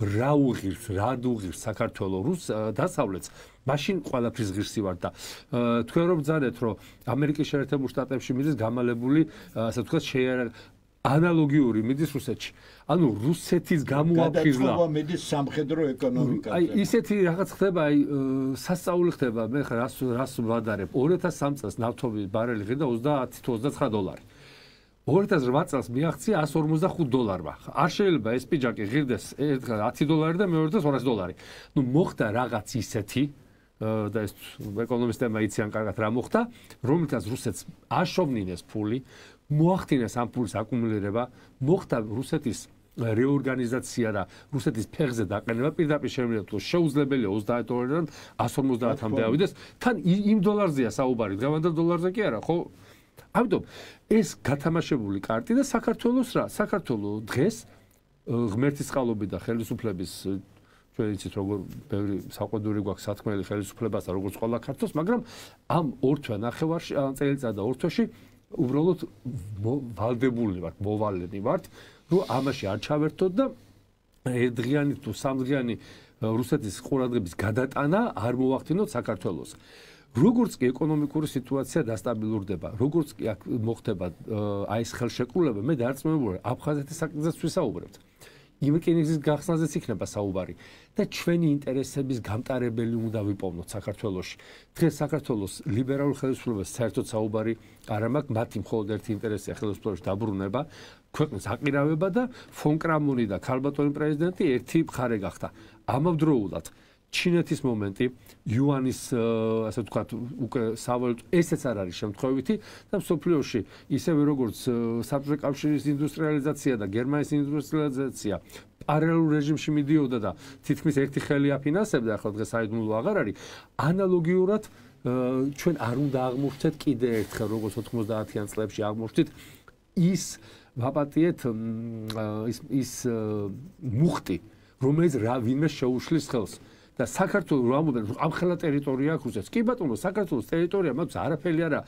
რა უღირს საქართველოს დასავლეთს, მაშინ ყველაფრის ღირსი ვარ და თქვენ რომ ბრძანეთ, რომ ამერიკის შეერთებულ შტატებში მიდის გამალებული, ასე ვთქვათ, ანალოგიური მიდის რუსეთში. ანუ რუსეთის გამოაფხიზლა. გადაწყვეტა მიდის სამხედრო ეკონომიკაზე. აი ისეთი რაღაც ხდება, აი სასწაული ხდება, მე რას ვადარებ. 2003 წელს ნავთობის ბარელი ღირდა 30 თუ 29 დოლარი. 2008 წელს მიაღწია 145 დოლარმა. არ შეიძლება ეს პიჯაკი ღირდეს ერთხელ 10 დოლარი და მეორე დღეს 200 დოლარი. ნუ მოხდა რაღაც ისეთი და ეს ეკონომისტებმა იციან კარგად რა მოხდა, რომელთაც რუსეთს აშოვნინეს ფული, მოახდინეს ამ ფულის აკუმულირება, მოხდა რუსეთის რეორგანიზაცია და რუსეთის ფეხზე დაყენება, პირდაპირ შემიძლია თუ შეუძლებელია 30 დოლარიდან 150-მდე ავიდეს, თან იმ დოლარზეა საუბარი, დღევანდელ დოლარზე კი არა, ხო? ამიტომ ეს გათამაშებული კარტი და საქართველოს რა? საქართველოს დღეს ღმერთის წყალობით და ხელისუფლების ჩვენ იცით როგორ ბევრი საყვედური გვაქვს სათქმელი ხელისუფლებასთან, როგორც ყველა ქართველს, მაგრამ ამ ორ თვე ნახევარში, წელიწად და ორ თვეში უბრალოდ ვალდებული ვართ, მოვალენი ვართ, რომ ამაში არ ჩავერთოთ და ერთდღიანი თუ სამდღიანი რუსეთის ყურადღების გადატანა არ მოახდინოთ საქართველოს. როგორც კი ეკონომიკური სიტუაცია დასტაბილურდება, როგორც კი აქ მოხდება აი ეს ხელშეკრულება, მე დარწმუნებული აფხაზეთის საკითხზეც ვისაუბრებთ. იმ რკინიგზის გახსნაზეც იქნება საუბარი და ჩვენი ინტერესების გამტარებელი უნდა ვიპოვნოთ საქართველოში. დღეს საქართველოს ლიბერალურ ხელისუფლებას საერთოდ საუბარი არ მაქვს, მათი მხოლოდ ერთი ინტერესია ხელისუფლებაში დაბრუნება, ქვეყნის აყირავება და ფონ კრამონი და ქალბატონი პრეზიდენტი ერთი მხარე გახდა. ამავდროულად ჩინეთის მომენტი, იუანის ასე ვთქვათ, უკვე სავალუტო ესეც არ არის შემთხვევითი და მსოფლიოში ისევე როგორც საბჭოთა კავშირის ინდუსტრიალიზაცია და გერმანიის ინდუსტრიალიზაცია პარალელურ რეჟიმში მიდიოდა და თითქმის ერთი ხელი აფინანსებდა, ახლა დღეს საიდუმლო აღარ არის. ანალოგიურად ჩვენ არ უნდა აღმოჩნდეთ კიდე ერთხელ, როგორც 90-იან წლებში აღმოჩნდით ის ვაპატიეთ ის მუხტი, რომელიც ვინმე შეუშლის ხელს. და საქართველოს რამოდენ ამხელა ტერიტორია აქვს რუსეთს. კი ბატონო, საქართველოს ტერიტორია მაქვს არაფერი არა.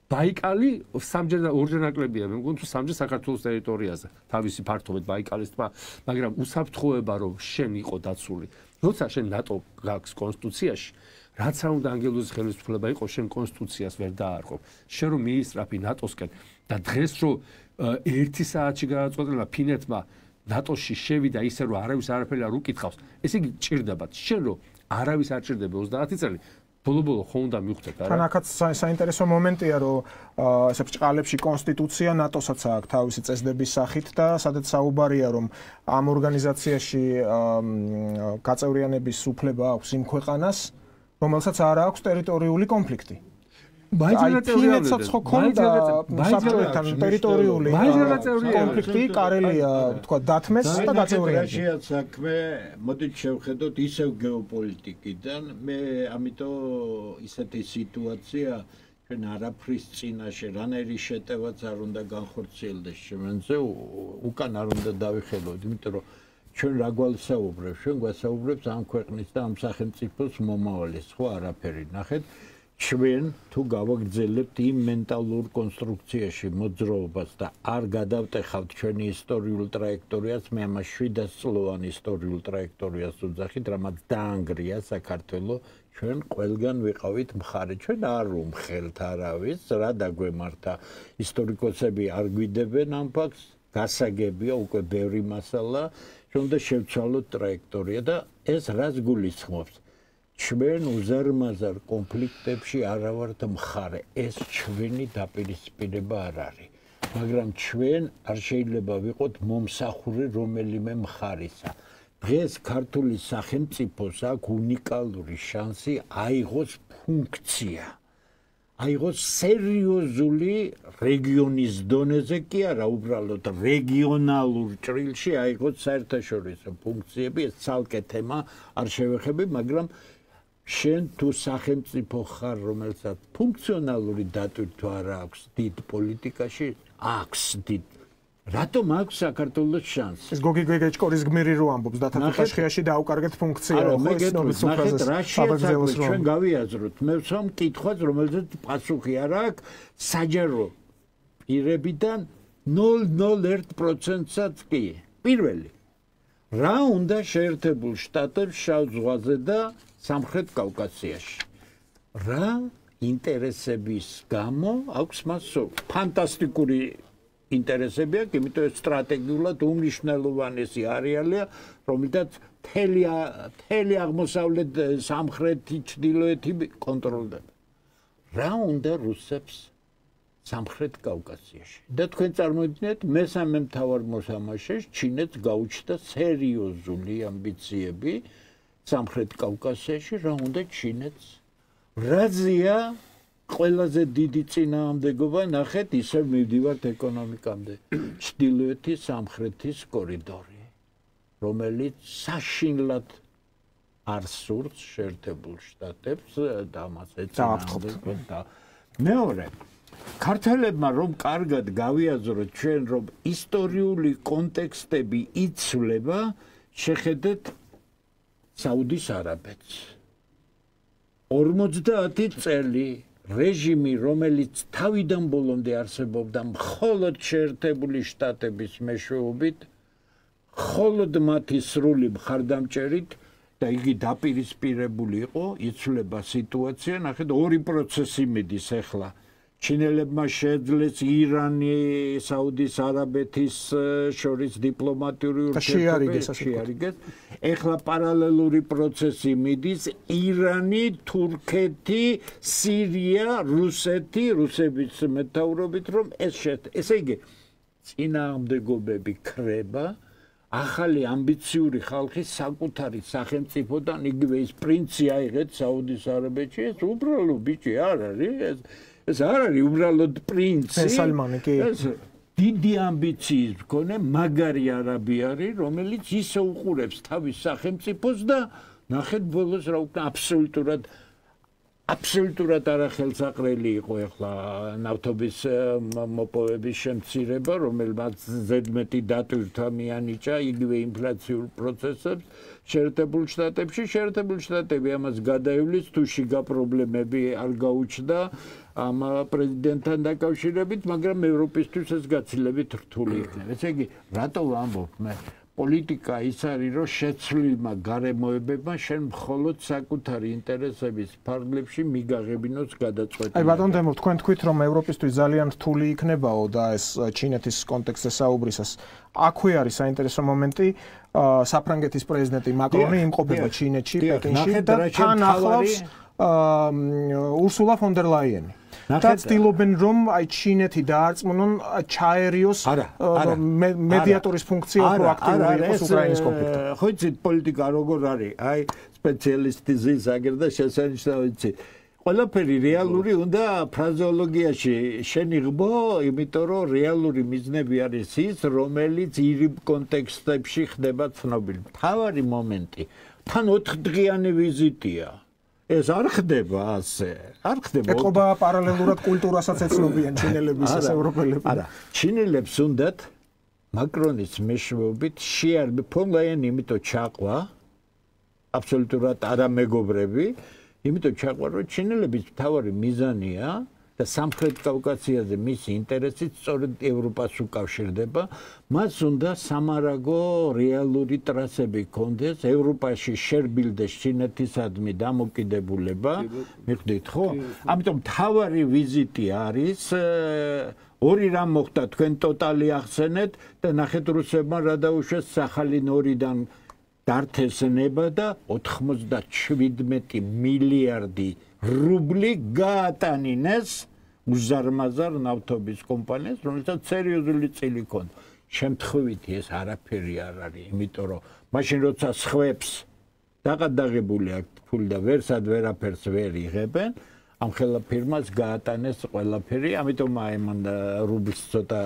ბაიკალი სამჯერ და ორჯერ ნაკლებია, მე მგონი თუ სამჯერ საქართველოს ტერიტორიაზე. თავისი ფართობით ბაიკალის ტბა, მაგრამ უსაფრთხოება რომ შენ იყო დაცული. როცა შენ ნატო გაქვს კონსტიტუციაში, რაც არ უნდა ანგელოზის ხელისუფლება იყო, შენ კონსტიტუციას ვერ დაარღვევ. შენ რომ მიისწრაფი ნატოსკენ და დღეს რომ 1 საათში გადაწყვეტილა ფინეთმა ნატოში შევიდა ისე რომ არავის არაფერი არ უკითხავს, ესე იგი ჭირდებათ. შენ რომ არავის არ ჭირდება 30 წელი, ბოლო-ბოლო ხო უნდა მივხვდეთ, არა? თან აქაც საინტერესო მომენტია, რომ ესე ბრჭყალებში კონსტიტუცია ნატოსაც აქვს თავისი წესდების სახით და სადაც საუბარია, რომ ამ ორგანიზაციაში გაწევრიანების უფლება აქვს იმ ქვეყანას, რომელსაც არ აქვს ტერიტორიული კონფლიქტი. ფინეთსაც ხო ქონდა საბჭოებთან ტერიტორიული კონფლიქტი, კარელია, თქვა, დათმეს და გაწევრიანდა. საქმე, მოდით შევხედოთ ისევ გეოპოლიტიკიდან, მე ამიტომ ისეთი სიტუაცია ჩვენ არაფრის წინაშე, რანაირი შეტევაც არ უნდა განხორციელდეს შემენზე, უკან არ უნდა დავიხელოთ, იმიტომ რომ ჩვენ რა გვასაუბრებთ, ჩვენ გვასაუბრებთ ამ ქვეყნის და ამ სახელმწიფოს მომავლის, ხო არაფერი ნახეთ. ჩვენ თუ გავაგრძელებთ იმ მენტალურ კონსტრუქციაში მოძრაობას და არ გადავტეხავთ ჩვენი ისტორიულ ტრაექტორიას, მე ამას 700 წლოვან ისტორიულ ტრაექტორიას ვუძახით, რამაც დაანგრია საქართველო, ჩვენ ყველგან ვიყავით მხარე, ჩვენ არ უმხელთ არავის, რა დაგვემართა. ისტორიკოსები არ გვიდებენ ამ ფაქტს, გასაგებია უკვე ბევრი მასალა, ჩვენ უნდა შევცვალოთ ტრაექტორია და ეს რას გულისხმობს? ჩვენ უზარმაზარ კონფლიქტებში არ ვართ მხარე, ეს ჩვენი დაპირისპირება არ არის. მაგრამ ჩვენ არ შეიძლება ვიყოთ მომსახური რომელიმე მხარისა. დღეს ქართული სახელმწიფოს აქვს უნიკალური შანსი აიღოს ფუნქცია. აიღოს სერიოზული რეგიონის დონეზე კი არა, უბრალოდ რეგიონალურ ჭრილში აიღოს საერთაშორისო ფუნქციები, ეს ცალკე თემა არ შევეხები, მაგრამ შენ თუ სახელმწიფო ხარ, რომელსაც ფუნქციონალური დატვირთვა არ აქვს დიდ პოლიტიკაში, აქვს დიდ. რატომ აქვს საქართველოს შანსი? ეს გოგი გეგეჭკორის გმირი რო ამბობს, დათათაშხიაში დაუკარგეთ ფუნქცია, ხო ის ნობის უფრაზეს. ჩვენ გავიაზროთ, მე ვცამ კითხვას, რომელზეც პასუხი არ აქვს, საჯარო პირებიდან 0.01%-საც კი. პირველი, რა უნდა შეერთებულ შტატებს შავ ზღვაზე და სამხრეთ კავკასიაში. რა ინტერესების გამო აქვს მას ფანტასტიკური ინტერესები აქვს, იმიტომ რომ სტრატეგიულად უმნიშვნელოვანესი არეალია, რომელსაც მთელი აღმოსავლეთ, სამხრეთი, ჩრდილოეთი კონტროლდება. რა უნდა რუსებს სამხრეთ კავკასიაში? და თქვენ წარმოიდგინეთ, მესამე მთავარ მოთამაშეს ჩინეთს გაუჩნდა სერიოზული ამბიციები სამხრეთ კავკასიაში, რა უნდა ჩინეთს? რაზეა ყველაზე დიდი წინააღმდეგობა, ნახეთ, ისევ მივდივართ ეკონომიკამდე. ჩრდილოეთის სამხრეთის კორიდორი, რომელიც საშინლად არ სურს შეერთებულ შტატებს და ამას ეწინააღმდეგება. მეორე, ქართველებმა რომ კარგად გავიაზროთ ჩვენ, რომ ისტორიული კონტექსტები იცვლება, შეხედეთ საუდის არაბეთს. 50 წელი რეჟიმი, რომელიც თავიდან ბოლომდე არსებობდა მხოლოდ შეერთებული შტატების მეშვეობით, მხოლოდ მათი სრული მხარდამჭერით და იგი დაპირისპირებული იყო, იცვლება სიტუაცია, ნახეთ, ორი პროცესი მიდის ახლა. ჩინელებმა შეძლეს ირანი, საუდის არაბეთის შორის დიპლომატიური ურთიერთობები შეარიგეს. ახლა პარალელური პროცესი მიდის ირანი, თურქეთი, სირია, რუსეთი, რუსების მეთაურობით, რომ ესე იგი წინააღმდეგობები ქრება. ახალი ამბიციური ხალხი საკუთარი სახელმწიფოდან იგივე ის პრინცი აიღეთ საუდის არაბეთში, ეს უბრალო ბიჭი არ არის, ეს არ არის უბრალოდ პრინცი. სალმანი კი. დიდი ამბიციის მქონე მაგარი არაბი არის, რომელიც ისე უყურებს თავის სახელმწიფოს და ნახეთ ბოლოს რა უკნა აბსოლუტურად არახელსაყრელი იყო ახლა ნავთობის მოპოვების შემცირება, რომელმაც ზედმეტი დატვირთვა მიანიჭა იგივე ინფლაციურ პროცესებს შეერთებულ შტატებში. შეერთებული შტატები ამას გადაივლის, თუ შიგა პრობლემები არ გაუჩნდა ამ პრეზიდენტთან დაკავშირებით, მაგრამ ევროპისთვის ეს გაცილებით რთული იქნება. ესე იგი, რატო ვამბობ მე? პოლიტიკა ის არის, რომ შეცვლილმა გარემოებებმა შენ მხოლოდ საკუთარი ინტერესების ფარგლებში მიგაღებინოს გადაწყვეტილება. აი ბატონ დემო, თქვენ თქვით, რომ ევროპისთვის ძალიან რთული იქნებაო და ეს ჩინეთის კონტექსტზე საუბრისას. აქვე არის საინტერესო მომენტი, საფრანგეთის პრეზიდენტი მაკრონი იმყოფება ჩინეთში, პეკინში და თან ახლავს ურსულა ფონ დერ ლაიენი. და ცდილობენ რომ აი ჩინეთი დაარწმუნონ ჩაერიოს მედიატორის ფუნქცია პროაქტიული იყოს უკრაინის კონფლიქტში. ხო იცით პოლიტიკა როგორ არის? აი სპეციალისტი ზის აგერ და შესანიშნავი იცი. ყველაფერი რეალური უნდა ფრაზეოლოგიაში შენიღბო, იმიტომ რომ რეალური მიზნები არის ის, რომელიც ირიბ კონტექსტებში ხდება ცნობილი. მთავარი მომენტი თან 4 დღიანი ვიზიტია. ეს არ ხდება ასე. არ ხდება. ეთყობა პარალელურად კულტურასაც ეცნობიან ჩინელების ეს ევროპელები. არა, ჩინელებს უნდათ მაკრონის მეშვეობით შეარბი ფონ ლაიენი იმიტომ ჩაყვა აბსოლუტურად არამეგობრები, იმიტომ ჩაყვა რომ ჩინელების მთავარი მიზანია და სამხრეთ კავკასიაზე მისი ინტერესით სწორედ ევროპას უკავშირდება, მას უნდა სამარაგო რეალური ტრასები კონდეს, ევროპაში შერბილდეს ჩინეთისადმი დამოკიდებულება, მიხვდით ხო? ამიტომ მთავარი ვიზიტი არის ორი რამ მოხდა, თქვენ ტოტალი ახსენეთ და ნახეთ რუსებმა რა დაუშვეს სახალინორიდან დართესნება და 97 მილიარდი რუბლი გაატანინეს უზარმაზარ ნავთობის კომპანიას, რომელსაც სერიოზული წილი ჰქონდა. შემთხვევითი ეს არაფერი არ არის, იმიტომ რომ მაშინ როცა სხვებს დაღადაღებული აქვს ფული და ვერსად ვერაფერს ვერ იღებენ, ამ ხელა ფირმას გაატანეს ყველაფერი, ამიტომ აი მან რუბლს ცოტა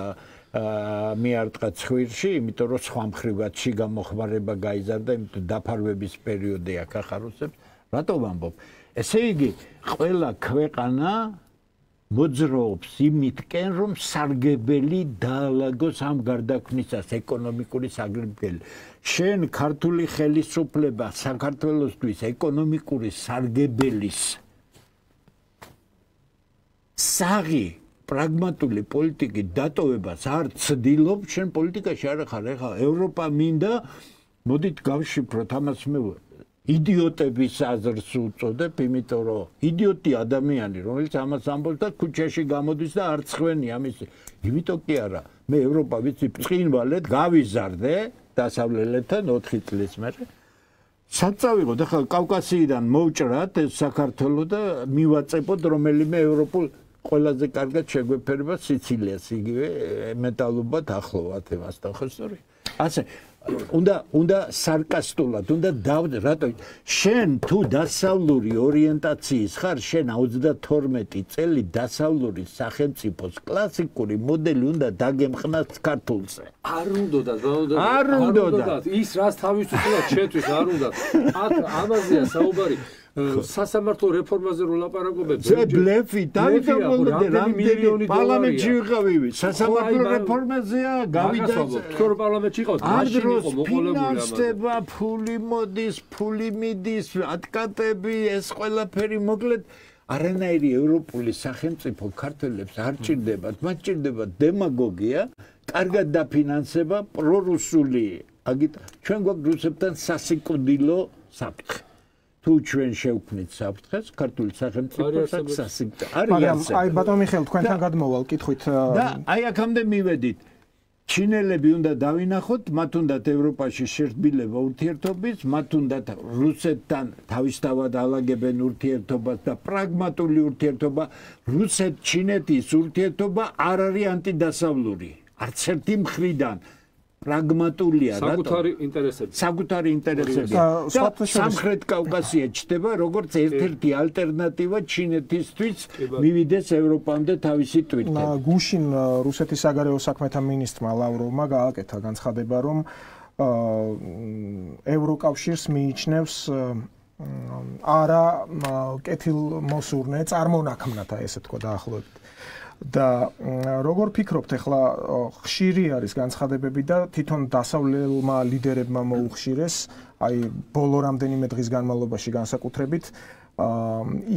მიარტყა ცხვირში, იმიტომ რომ სხვა მხრივად შიგა მოხმარება გაიზარდა, იმიტომ დაფარვების პერიოდი აქ ახაროსებს. რატო ვამბობ? ესე იგი, ყველა ქვეყანა მოძრაობს იმითკენ, რომ სარგებელი დაალაგოს ამ გარდაქმნისას ეკონომიკური სარგებელი. შენ ქართული ხელისუფლება საქართველოსთვის ეკონომიკური სარგებელის საღი პრაგმატული პოლიტიკის დატოვებას არ ცდილობ, შენ პოლიტიკაში არ ხარ, ეხლა ევროპა მინდა, მოდით გავშიფროთ ამას მე იდიოტების აზრს უწოდებ, იმიტომ რომ იდიოტი ადამიანი, რომელიც ამას ამბობს და ქუჩაში გამოდის და არ ცხვენია ამის. იმიტომ კი არა, მე ევროპა ვიცი ბრწყინვალედ გავიზარდე დასავლელთან 4 წლის მერე. საწავიღოთ ახლა კავკასიიდან მოვჭრათ ეს საქართველო და მივაწებოთ რომელიმე ევროპულ ყველაზე კარგად შეგვეფერება სიცილიას, იგივე მეტალობად ახლოვად ევასთან ხო სწორი? ასე უნდა სარკასტულად, უნდა რატო შენ თუ დასავლური ორიენტაციის ხარ, შენ 32 წელი დასავლური სახელმწიფოს კლასიკური მოდელი უნდა დაგემხნას ქართულზე. არ უნდათ, ის რას თავისუფლად შეთვის არ უნდათ. აქ ამაზეა საუბარი. სასამართლო რეფორმაზე რო ლაპარაკობენ, ბლეფი, დავით რამდენი პარლამენტში ვიყავი, სასამართლო რეფორმაზეა, გავიდა, თქო რომ პარლამენტში იყავთ, მაშინ იყო მოყოლებული ფინანსდება, ფული მოდის, ფული მიდის, ატკატები, ეს ყველაფერი მოკლედ არანაირი ევროპული სახელმწიფო ქართველებს არ ჭირდებათ, მათ ჭირდებათ დემაგოგია, კარგად დაფინანსება, პრორუსული, აგით ჩვენ გვაქვს რუსებთან სასიკვდილო საფრთხე. თუ ჩვენ შევქმნით საფრთხეს, ქართული სახელმწიფოს აქვს არის. მაგრამ აი ბატონო მიხეილ, თქვენთან გადმოვალ კითხვით და აი აქამდე მივედით. ჩინელები უნდა დავინახოთ, მათ უნდათ ევროპაში შერბილება ურთიერთობის, მათ უნდათ რუსეთთან თავისთავად ალაგებენ ურთიერთობას და პრაგმატული ურთიერთობა. რუსეთ-ჩინეთის ურთიერთობა არ არის ანტიდასავლური. არც ერთი მხრიდან პრაგმატულია, საკუთარი ინტერესები. სამხრეთ კავკასია ჩდება როგორც ერთ-ერთი ალტერნატივა ჩინეთისთვის მივიდეს ევროპამდე თავისი ტვირთებით. გუშინ რუსეთის საგარეო საქმეთა მინისტრმა ლავროვმა გააკეთა განცხადება, რომ ევროკავშირს მიიჩნევს არა კეთილმოსურნე წარმონაქმნად, ესე თქვა დაახლოებით. და როგორ ფიქრობთ, ახლა ხშირი არის განცხადებები და თვითონ დასავლელმა ლიდერებმა მოუხშირეს, აი ბოლო რამდენიმე დღის განმავლობაში განსაკუთრებით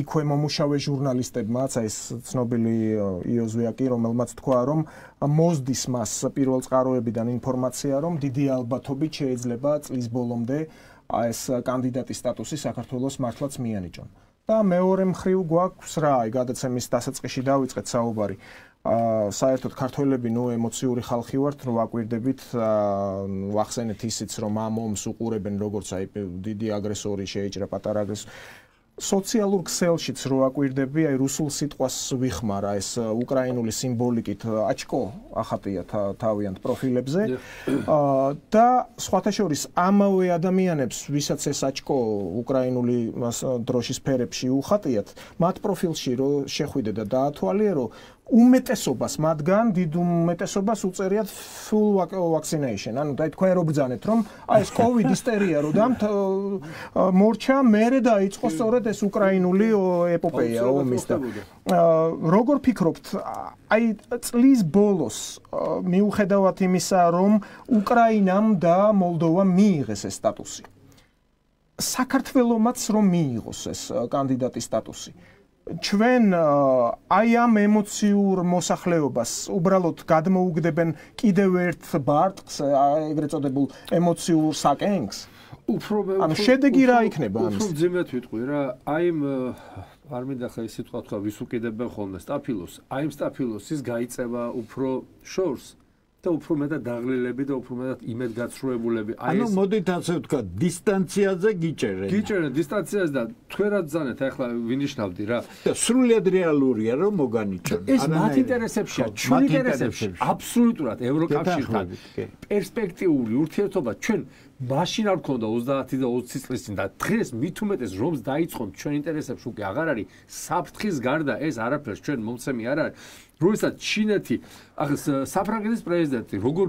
იქვე მომუშავე ჟურნალისტებმაც, აი ეს ცნობილი იოზვიაკი, რომელმაც თქვა, რომ მოსდის მას პირველ წყაროებიდან ინფორმაცია, რომ დიდი ალბათობით შეიძლება წლის ბოლომდე ეს კანდიდატის სტატუსი საქართველოს მართლაც მიანიჭონ. და მეორე მხრივ გვაქვს რა, აი გადაცემის დასაწყისში დავიწყეთ საუბარი. საერთოდ ქართველები ემოციური ხალხი ვართ, რომ ვაკვირდებით, ვახსენეთ ისიც, რომ ამ ომს უყურებენ როგორც აი დიდი აგრესორი შეიჭრა პატარა აგრესორი. სოციალურ ქსელშიც რო აკვირდები, აი რუსულ სიტყვას ვიხმარა, ეს უკრაინული სიმბოლიკით აჩკო ახატია თავიანთ პროფილებზე და სხვათა შორის ამავე ადამიანებს, ვისაც ეს აჩკო უკრაინული დროშის ფერებში უხატიათ, მათ პროფილში რო შეხვიდე და დაათვალიერო, უმეტესობას მათგან დიდ უმეტესობას უწერიათ full vaccination. ანუ და თქვენ რო ბრძანეთ, რომ აი ეს COVID ისტერია რო მორჩა, მერე დაიწყო სწორედ ეს უკრაინული ეპოპეა ომის და როგორ ფიქრობთ, აი წლის ბოლოს მიუხედავად იმისა, რომ უკრაინამ და მოლდოვამ მიიღეს ეს სტატუსი, საქართველომაც რომ მიიღოს ეს კანდიდატის სტატუსი, ჩვენ აი ამ ემოციურ მოსახლეობას უბრალოდ გადმოუგდებენ კიდევ ერთ ბარტყს, ეგრეთ წოდებულ ემოციურ საკენგს. ანუ შედეგი რა იქნება ამის? უფრო ძიმეთ ვიტყვი რა, აი არ მინდა ხა ის სიტყვა თქვა, ვის უკიდებენ ხოლმე სტაფილოს, აი იმ სტაფილოსის გაიწევა უფრო შორს და უფრო მეტად დაღლილები და უფრო მეტად იმედგაცრუებულები. ანუ მოდით ასე ვთქვა, დისტანციაზე გიჭერენ. გიჭერენ დისტანციაზე და თქვენ რა ძანეთ, ახლა ვინიშნავდი რა. და სრულიად რეალურია რომ მოგანიჭონ. ეს მათ ინტერესებშია, ჩვენ ინტერესებში. აბსოლუტურად ევროკავშირთან პერსპექტიული ურთიერთობა ჩვენ მაშინ არ გქონდა 30 და 20 წლის წინ და დღეს მით უმეტეს რომს დაიწყონ ჩვენ ინტერესებში უკვე აღარ არის საფრთხის გარდა ეს არაფერს ჩვენ მომცემი არ არის. როდესაც ჩინეთი საფრანგეთის პრეზიდენტი როგორ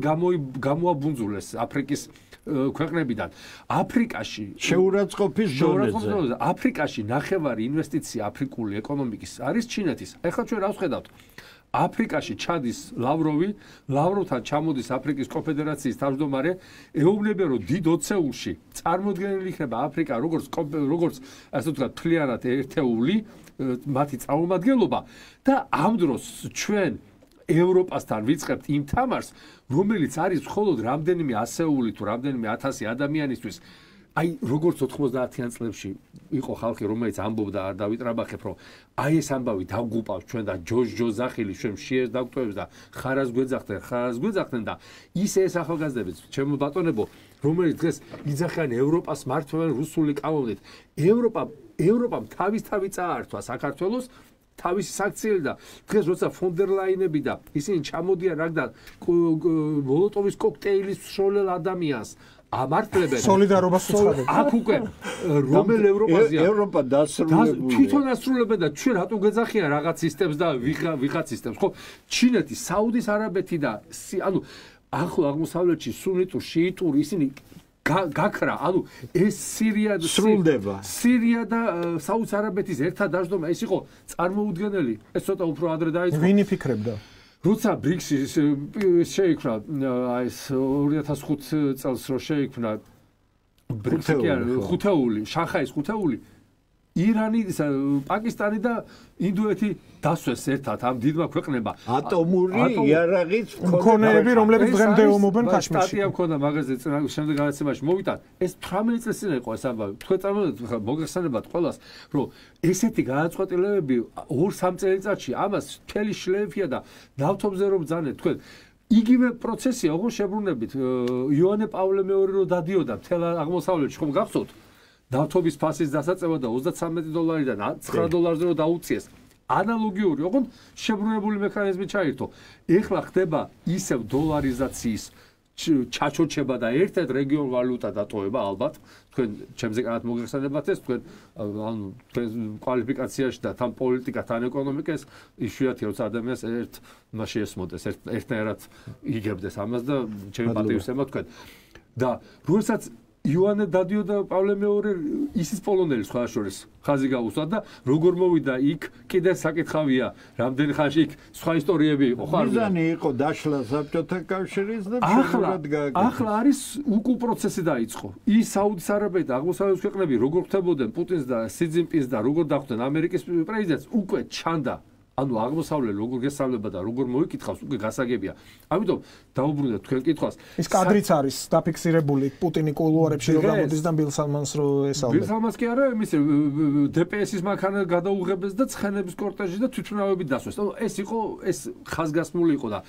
გამოაბუნძულეს აფრიკის ქვეყნებიდან აფრიკაში შეურაცხყოფის დონეზე აფრიკაში ნახევარი ინვესტიცია აფრიკული ეკონომიკის არის ჩინეთის. ეხლა ჩვენ რა ვხედავთ? აფრიკაში ჩადის ლავროვთან ჩამოდის აფრიკის კონფედერაციის თავმჯდომარე, ეუბნება რომ დიდ ოცეულში წარმოდგენილი იქნება აფრიკა როგორც ასე ვთქვათ მთლიანად ერთეული მათი წარმომადგენლობა და ამ დროს ჩვენ ევროპასთან ვიწყებთ იმ თამარს, რომელიც არის მხოლოდ რამდენიმე ასეული თუ რამდენიმე ათასი ადამიანისთვის. აი როგორც 90-იან წლებში იყო ხალხი, რომელიც ამბობდა, არ დავიტრაბახებ, რომ აი ეს ამბავი დაგუპავს ჩვენ და ჯოჯოძახილი ჩვენ შეეს დაგტოვებს და ხარას გვეძახდნენ და ისე ეს ახალგაზრდები, ჩემო ბატონებო, რომელიც დღეს იძახიან ევროპას მართლმადიდებლად რუსული კანონით, ევროპამ თავი წაართვა საქართველოს თავისი საქციელი და დღეს როცა ფონ დერ ლაინები და ისინი ჩამოდიან რაგდან მოლოტოვის კოქტეილის სროლელ ადამიანს ამართლებენ სოლიდარობას უცხადებენ. აქ უკვე რომელ ევროპაზეა? ევროპა დასრულებულია. თვითონ ასრულებენ და ჩვენ რატო გეძახიან რაღაც სისტემს და ვიღაც სისტემს, ხო? ჩინეთი, საუდის არაბეთი და ანუ ახლო აღმოსავლეთში სუნიტურ, შიიტურ ისინი გაქრა, ანუ ეს სირია და საუდის არაბეთის ერთად დაждდომა, ეს იყო წარმოუდგენელი. ეს ცოტა უფრო ადრე დაიწყო. ვინი ფიქრებდა? როცა ბრიქსი შეიქმნა, აი ეს 2005 წელს რო შეიქმნა ბრიქსი, ხუთეული, შანხაის ხუთეული, ირანი, პაკისტანი და ინდოეთი დასვეს ერთად ამ დიდმა ქვეყნებმა. ატომური იარაღის მქონეები, რომლებიც დღემდე ომობენ ქაშმირში. სტატია მქონდა მაგაზე შემდეგ გადაცემაში მოვიტან. ეს 18 წელს წინ იყო ეს ამბავი. თქვენ წარმოვიდგინეთ, მოგეხსენებათ ყველას, რომ ესეთი გადაწყვეტილებები 2-3 წელიწადში ამას მთელი შლეიფია და ნავთობზე რომ ბრძანეთ, თქვენ იგივე პროცესია, ოღონდ შებრუნებით იოანე პავლე მეორე რო დადიოდა მთელ აღმოსავლეთში, ხომ გახსოვთ? ნავთობის ფასის დასაწევა და $33-დან $9 რო დაუწიეს. ანალოგიური, ოღონდ შებრუნებული მექანიზმი ჩაირთო. ეხლა ხდება ისევ დოლარიზაციის ჩაჩოჩება და ერთ-ერთ რეგიონ ვალუტა დატოვება ალბათ. თქვენ ჩემზე კარგად მოგეხსენებათ ეს, თქვენ ანუ კვალიფიკაციაში და თან პოლიტიკა, თან ეკონომიკა ეს იშვიათია, როცა ადამიანს ერთ მასში ესმოდეს, ერთნაირად იგებდეს ამას და ჩემი პატივისცემა თქვენ. და როდესაც იოანე დადიოდა პავლე მეორე ისის პოლონელი სხვა შორის ხაზი გაუსვა და როგორ მოვიდა იქ კიდე საკითხავია რამდენი ხანში იქ სხვა ისტორიები იყო ხარ მიზანი იყო დაშლა საბჭოთა კავშირის და შედეგად გააკეთა. ახლა არის უკუ პროცესი დაიწყო. ის საუდის არაბეთი და აღმოსავლეთის ქვეყნები როგორ ხდებოდნენ პუტინს და სი ძინპინს და როგორ დახვდნენ ამერიკის პრეზიდენტს უკვე ჩანდა. ანუ აღმოსავლელი როგორ გესწავლება და როგორ მოიკითხავს უკვე გასაგებია. ამიტომ დაუბრუნდეთ თქვენ კითხვას. ის კადრიც არის დაფიქსირებული პუტინი კულუარებში რო გამოდის და ბილ სალმანს რო ესალმება. ბილ სალმანს კი არა, იმის დპს-ის მანქანა გადაუღებეს და ცხენების კორტეჟი და თვითმფრინავები დასვეს. ეს იყო ეს ხაზგასმული იყო და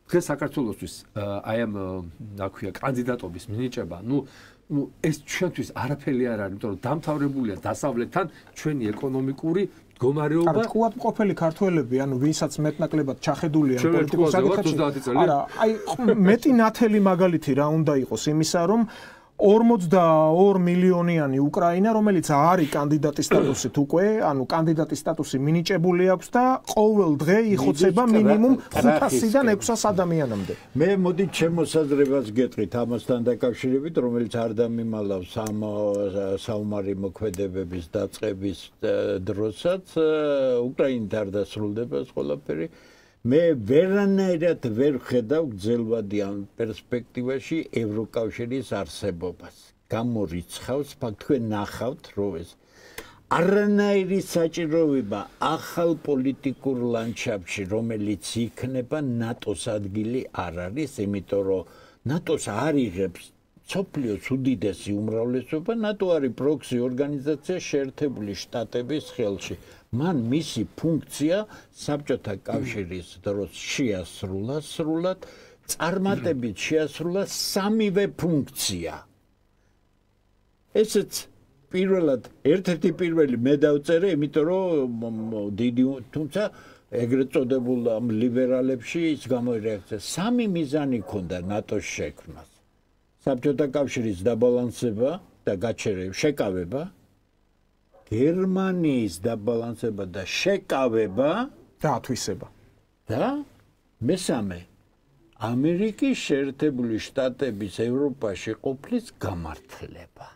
დღეს საქართველოსთვის აი ამ აქვია კანდიდატობის მინიჭება, ეს ჩვენთვის არაფერი არ არის, იმიტომ რომ დამთავრებულია დასავლეთთან ჩვენი ეკონომიკური მდგომარეობა. თქვათ მყოფელი ქართველები, ანუ ვინცაც მეტნაკლებად ჩახედულია პოლიტიკურ საკითხებში. არა, აი მეტი ნათელი მაგალითი რა უნდა იყოს იმისა, რომ 42 მილიონიანი უკრაინა, რომელიც არის კანდიდატის სტატუსით უკვე, ანუ კანდიდატის სტატუსი მინიჭებული აქვს და ყოველ დღე იხოცება მინიმუმ 500-დან 600 ადამიანამდე. მე მოდი ჩემოსაზრებას გეტყვით ამასთან დაკავშირებით, რომელიც არ დამიმალავს ამ საომარი მოქმედებების დაწყების დროსაც, უკრაინით არ დასრულდება ეს ყველაფერი. მე ვერანაირად ვერ ხედავ გრძელვადი ამ პერსპექტივაში ევროკავშირის არსებობას. გამორიცხავს, თქვენ ნახავთ, რომ ეს არანაირი საჭიროება ახალ პოლიტიკურ ლანდშაფტში, რომელიც იქნება ნატოს ადგილი არ არის, იმიტომ რომ ნატოს არ იღებს მსოფლიოს უდიდესი უმრავლესობა, ნატო არის პროქსი ორგანიზაცია შეერთებული შტატების ხელში. მან მისი ფუნქცია საბჭოთა კავშირის დროს შეასრულა სრულად, წარმატებით შეასრულა სამივე ფუნქცია. ესეც პირველად ერთ-ერთი პირველი მე დავწერე, იმიტომ რომ დიდი თუმცა ეგრეთ წოდებულ ამ ლიბერალებში ის გამოირეაქცია. სამი მიზანი ჰქონდა ნატოს შექმნას. საბჭოთა კავშირის დაბალანსება და შეკავება, გერმანიის დაბალანსება და შეკავება და ათვისება. და მესამე ამერიკის შეერთებული შტატების ევროპაში ყოფნის გამართლება.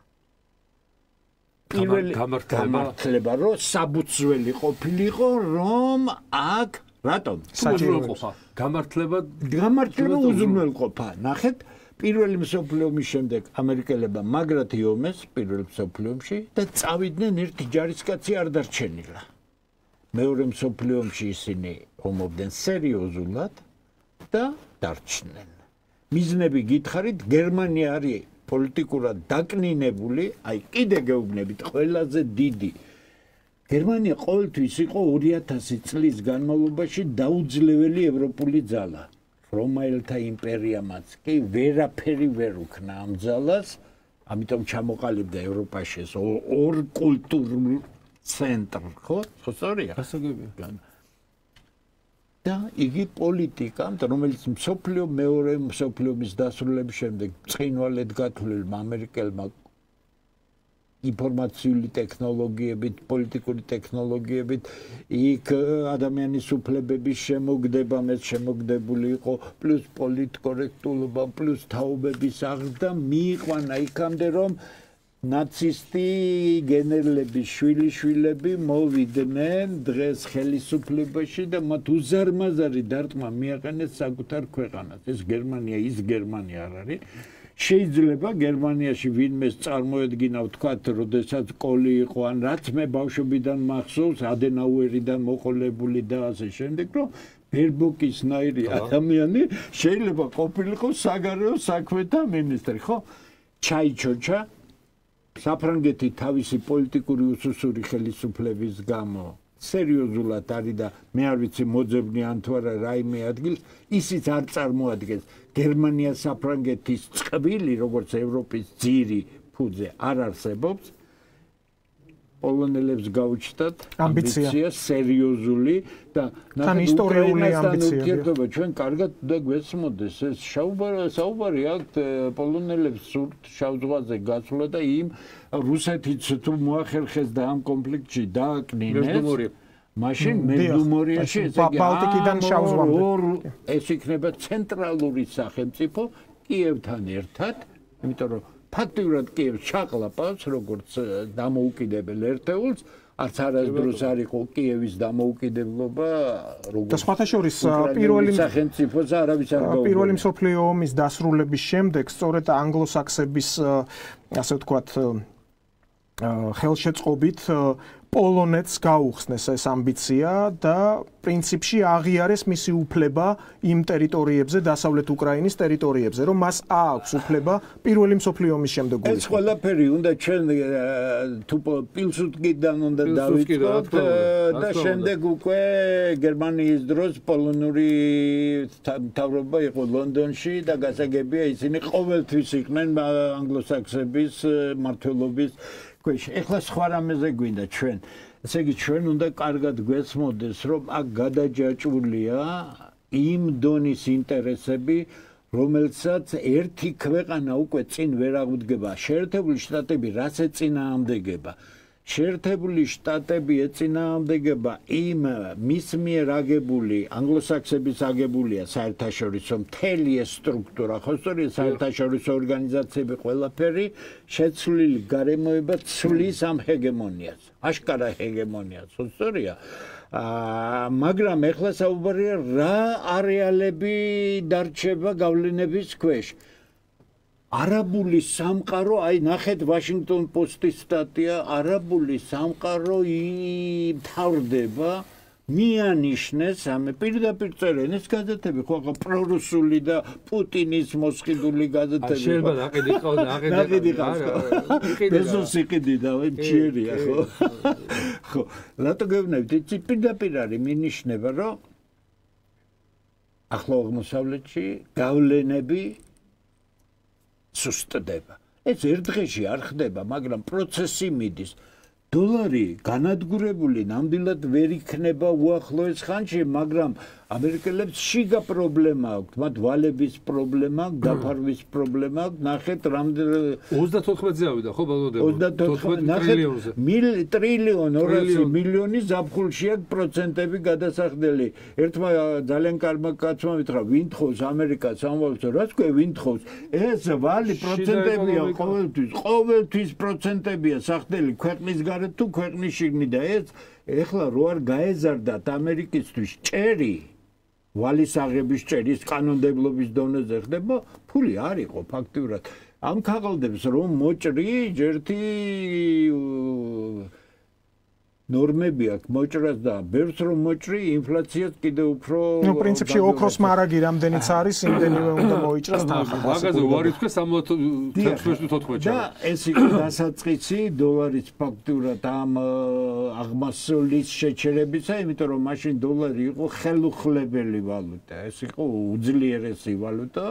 პირველი გამართლება, რომ საბუცველი ყოფილიყო, რომ აქ რატომ? უზრუნველყოფა. გამართლება უზრუნველყოფა. ნახეთ პირველი მსოფლიო ომის შემდეგ ამერიკელებმა მაგრად იომეს პირველ მსოფლიო ომში და წავიდნენ ერთი ჯარისკაცი არ დარჩენილა. მეორე მსოფლიო ომში ისინი ომობდნენ სერიოზულად და დარჩნენ. მიზნები გითხარით, გერმანია არის პოლიტიკურად დაკნინებული, აი კიდე გეუბნებით ყველაზე დიდი. გერმანია ყოველთვის იყო 2000 წლის განმავლობაში დაუძლეველი ევროპული ძალა. რომაელთა იმპერიამაც კი ვერაფერი ვერ უქნა ამ ძალას, ამიტომ ჩამოყალიბდა ევროპაში ეს ორ კულტურულ ცენტრ, ხო? სწორია? გასაგებია. და იგი პოლიტიკა, რომელიც მეორე მსოფლიო ომის დასრულების შემდეგ ცხინვალედ გათვლილმა ამერიკელმა ინფორმაციული ტექნოლოგიებით, პოლიტიკური ტექნოლოგიებით, იქ ადამიანის უფლებების შემოგდება, მეც შემოგდებული იყო, პლუს პოლიტკორექტულობა, პლუს თაობების აღდგა, მიიყვანა იქამდე, რომ ნაცისტი გენერლების შვილიშვილები მოვიდნენ დღეს ხელისუფლებაში და მათ უზარმაზარი დარტყმა მიაყენეს საკუთარ ქვეყანას. ეს გერმანია ის გერმანია არ არის. შეიძლება გერმანიაში ვინმეს წარმოედგინა ვთქვათ, როდესაც კოლი იყო ან რაც მე ბავშვობიდან მახსოვს, ადენაუერიდან მოყოლებული და ასე შემდეგ, რომ ბერბოკისნაირი ადამიანი შეიძლება ყოფილიყო საგარეო საქმეთა მინისტრი, ხო? ჩაიჩოჩა საფრანგეთი თავისი პოლიტიკური უსუსური ხელისუფლების გამო სერიოზულად არის და მე არ ვიცი მოძებნი ან თუ არა რაიმე ადგილს ისიც არ წარმოადგენს გერმანია საფრანგეთის წყვილი როგორც ევროპის ძირი ფუძე არ არსებობს პოლონელებს გაუჩნდათ ამბიცია სერიოზული და თან ისტორიული ამბიცია ჩვენ კარგად და გვესმოდეს ეს საუბარი აქ პოლონელებს სურთ შავ ზღვაზე გასვლა და იმ რუსეთიც თუ მოახერხეს და ამ კონფლიქტში დააკნინეს მაშინ მეზდუმორიაში ბალტიკიდან შავ ზღვამდე ეს იქნება ცენტრალური სახელმწიფო კიევთან ერთად იმიტომ რომ ფაქტიურად კიევს ჩაყლაპავს როგორც დამოუკიდებელ ერთეულს არც არასდროს არ იყო კიევის დამოუკიდებლობა როგორც და სხვათა შორის პირველი სახელმწიფოს არავის არ გაუგებია პირველი მსოფლიო ომის დასრულების შემდეგ სწორედ ანგლოსაქსების ასე ვთქვათ ხელშეწყობით პოლონეთს გაუხსნეს ეს ამბიცია და პრინციპში აღიარეს მისი უფლება იმ ტერიტორიებზე, დასავლეთ უკრაინის ტერიტორიებზე, რომ მას აქვს უფლება პირველი მსოფლიო ომის შემდეგ გულისხმობა. ეს ყველაფერი უნდა ჩვენ თუ პილსუდკიდან უნდა დავიწყოთ და შემდეგ უკვე გერმანიის დროს პოლონური მთავრობა იყო ლონდონში და გასაგებია ისინი ყოველთვის იყვნენ ანგლოსაქსების მმართველობის ქვეშ. ეხლა სხვა რამეზე გვინდა ჩვენ. ესე იგი ჩვენ უნდა კარგად გვესმოდეს, რომ აქ გადაჯაჭვულია იმ დონის ინტერესები, რომელსაც ერთი ქვეყანა უკვე წინ ვერ აღუდგება. შეერთებული შტატები რაც ეწინააღმდეგება. შეერთებული შტატები ეწინააღმდეგება იმ მის მიერ აგებული ანგლოსაქსების აგებულია საერთაშორისო მთელი ეს სტრუქტურა, ხო სწორია საერთაშორისო ორგანიზაციები ყველაფერი შეცვლილი გარემოება ცვლის ამ ჰეგემონიას. აშკარა ჰეგემონიას, ხო სწორია? მაგრამ ეხლა საუბარია რა არეალები დარჩება გავლენების ქვეშ. არაბული სამყარო, აი ნახეთ ვაშინგტონ პოსტის სტატია, არაბული სამყარო იმთავრდება, მიანიშნეს ამე პირდაპირ წერენ ეს გაზეთები, ხო ახლა პრორუსული და პუტინის მოსყიდული გაზეთები. შეიძლება ნაყიდი ყავს, ნაყიდი ყავს. ბეზოსი ყიდიდა, ჯერია, ხო? ხო, რატო გეუბნებით, იცი პირდაპირ არის მინიშნება, რომ ახლო აღმოსავლეთში გავლენები სუსტდება. ეს ერთ დღეში არ ხდება, მაგრამ პროცესი მიდის. დოლარი განადგურებული ნამდვილად ვერ იქნება უახლოეს ხანში, მაგრამ ამერიკელებს შიგა პრობლემა აქვს, მათ ვალების პრობლემა, დაფარვის პრობლემა აქვს. ნახეთ, რამდენი 34-ზე ავიდა, ხო, ბალოდები? 34 ტრილიონ 200 მილიონი ზაფხულში აქვს პროცენტები გადასახდელი. ერთმა ძალიან კარგმა კაცმა ვითხრა, ვინ თხოვს ამერიკას ამბობს, რაც ქვე ვინ თხოვს? ეს ვალი პროცენტებია ყოველთვის პროცენტებია სახდელი ქვეყნის გარეთ თუ ქვეყნის შიგნით და ეს ეხლა რო არ გაეზარდათ ამერიკისთვის ჭერი ვალის აღების ჭერის კანონმდებლობის დონეზე ხდება, ფული არ იყო ფაქტიურად. ამ ქაღალდებს რომ მოჭრი, ჯერთი ნორმები აქვს მოჭრას და ბევრს რომ მოჭრი, ინფლაციაც კიდე უფრო ნუ პრინციპში ოქროს მარაგი რამდენიც არის, იმდენივე უნდა მოიჭრას თანხა. მაგაზე ვარი თქვა 16-14. და ეს იყო დასაწყისი დოლარის ფაქტურად ამ აღმასრულის შეჩერებისა, იმიტომ რომ მაშინ დოლარი იყო ხელუხლებელი ვალუტა, ეს იყო უძლიერესი ვალუტა.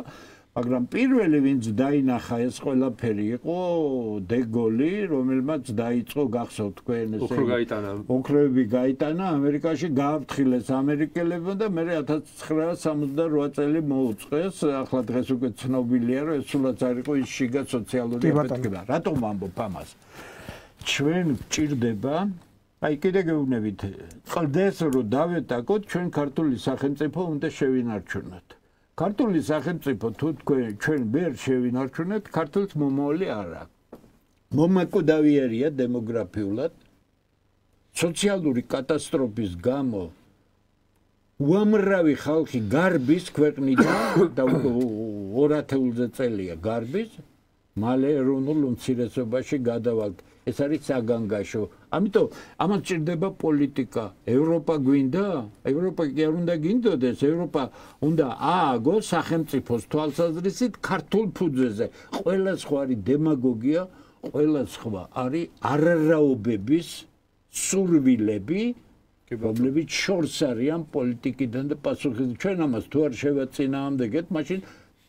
მაგრამ პირველი ვინც დაინახა ეს ყველაფერი იყო დეგოლი, რომელმაც დაიწყო გახსოვთ თქვენ ესე ოქროები გაიტანა ამერიკაში, გააფრთხილეს ამერიკელებმა და მე 1968 წელი მოუწყეს. ახლა დღეს უკვე ცნობილია, რომ ეს სულაც არ იყო ის შიგა სოციალური აფეთქება. რატომ ვამბობ ამას? ჩვენ გჭირდება, აი კიდე გეუბნებით, ყლდეს რომ დავეტაკოთ, ჩვენ ქართული სახელმწიფო უნდა შევინარჩუნოთ. ქართული სახელმწიფო თუ ჩვენ ვერ შევინარჩუნებთ, ქართულს მომავალი არ აქვს. მომაკვდავიერია დემოგრაფიულად, სოციალური კატასტროფის გამო უამრავი ხალხი გარბის ქვეყნიდან და 200-ზე წელია გარბის მალე ეროვნულ უმცირესობაში გადავალთ. ეს არის საგანგაშო. ამიტომ ამას ჭირდება პოლიტიკა. ევროპა გვინდა? ევროპა კი არ უნდა გინდოდეს. ევროპა უნდა ააგოს სახელმწიფოს თვალსაზრისით ქართულ ფუძეზე. ყველა სხვა არის დემაგოგია, ყველა სხვა არის არარაობების სურვილები, რომლებიც შორს არიან პოლიტიკიდან და პასუხისმგებლობიდან. ჩვენ ამას თუ არ შევაწინააღმდეგეთ, მაშინ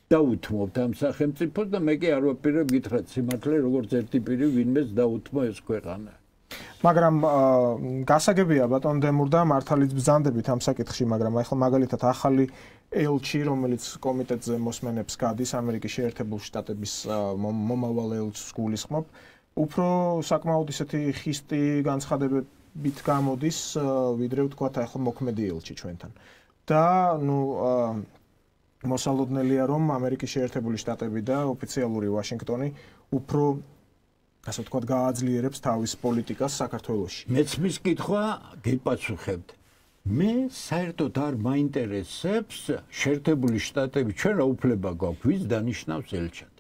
დაუთმობთ ამ სახელმწიფოს და მე კი არ ვაპირებ გითხრათ სიმართლე როგორც ერთი პირი ვინმეს დაუთმო ეს ქვეყანა. მაგრამ გასაგებია ბატონ დემურდა მართალიც ბრძანდებით ამ საკითხში, მაგრამ ახლა მაგალითად ახალი ელჩი, რომელიც კომიტეტზე მოსმენებს გადის ამერიკის შეერთებულ შტატების მომავალ ელჩს გულისხმობ, უფრო საკმაოდ ისეთი ხისტი განცხადებებით გამოდის, ვიდრე ვთქვათ ახლა მოქმედი ელჩი ჩვენთან. და მოსალოდნელია რომ ამერიკის შეერთებული შტატები და ოფიციალური ვაშინგტონი უფრო ასე ვთქვათ გააძლიერებს თავის პოლიტიკას საქართველოში. მეც მის კითხვა გიპასუხებთ. მე საერთოდ არ მაინტერესებს შეერთებული შტატები, ჩვენ რა უფლება გვაქვს ვის დანიშნავს ელჩად.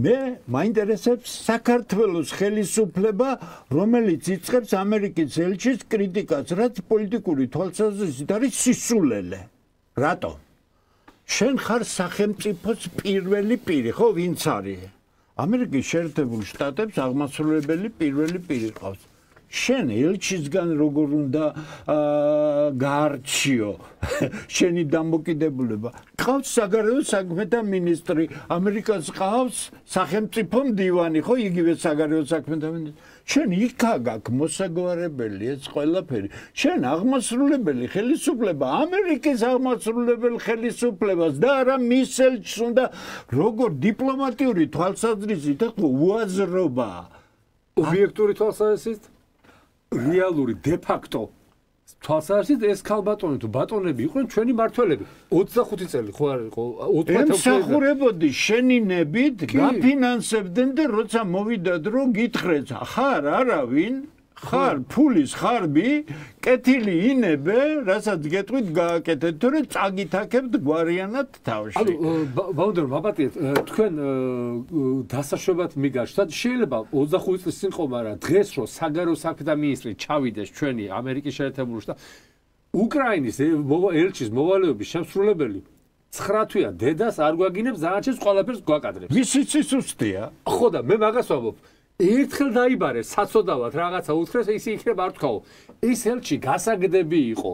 მე მაინტერესებს საქართველოს ხელისუფლება, რომელიც იწყებს ამერიკის ელჩის კრიტიკას, რაც პოლიტიკური თვალსაზრისით არის სისულელე. რატომ? შენ ხარ სახელმწიფოს პირველი პირი, ხო, ვინც არის? ამერიკის შეერთებულ შტატებს აღმასრულებელი პირველი პირი ყავს. შენ ელჩისგან როგორ უნდა გაარჩიო შენი დამოკიდებულება? ყავს საგარეო საქმეთა მინისტრი, ამერიკას ყავს სახელმწიფო მდივანი, ხო, იგივე საგარეო საქმეთა მინისტრი. შენ იქა გაქვს მოსაგვარებელი ეს ყველაფერი. შენ აღმასრულებელი ხელისუფლება, ამერიკის აღმასრულებელ ხელისუფლებას და არა მის ელჩს უნდა როგორ დიპლომატიური თვალსაზრისით უაზრობა. ობიექტური თვალსაზრისით, რეალური დე-ფაქტო თვალსაზრისით ეს ქალბატონი თუ ბატონები იყვნენ ჩვენი მართველები. 25 წელი ხო არ იყო? ემსახურებოდი შენინებით, გაფინანსებდნენ და როცა მოვიდა დრო გითხრეთ, ხარ არავინ? ხარ ფულის ხარბი, კეთილი ინებე, რასაც გეტყვით გააკეთეთ, თორე წაგითაქებთ გვარიანად თავში. ანუ ბაუნდერ მაპატიეთ, თქვენ დასაშვებად მიგაჩნდათ, შეიძლება 25 წლის წინ ყო, მაგრამ დღეს რო საგარეო საქმეთა მინისტრი ჩავიდეს ჩვენი ამერიკის შეერთებული შტატ უკრაინის ელჩის მოვალეობის შემსრულებელი 9 თვეა დედას არ გვაგინებს, ზანაჩეს ყველაფერს გვაკადრებს. ვისიც სუსტია. ხო და მე მაგას ვამბობ. ერთხელ დაიბარე საცოდავად რაღაცა უთხრეს ისი იქნება არ თქვაო. ეს ელჩი გასაგდები იყო.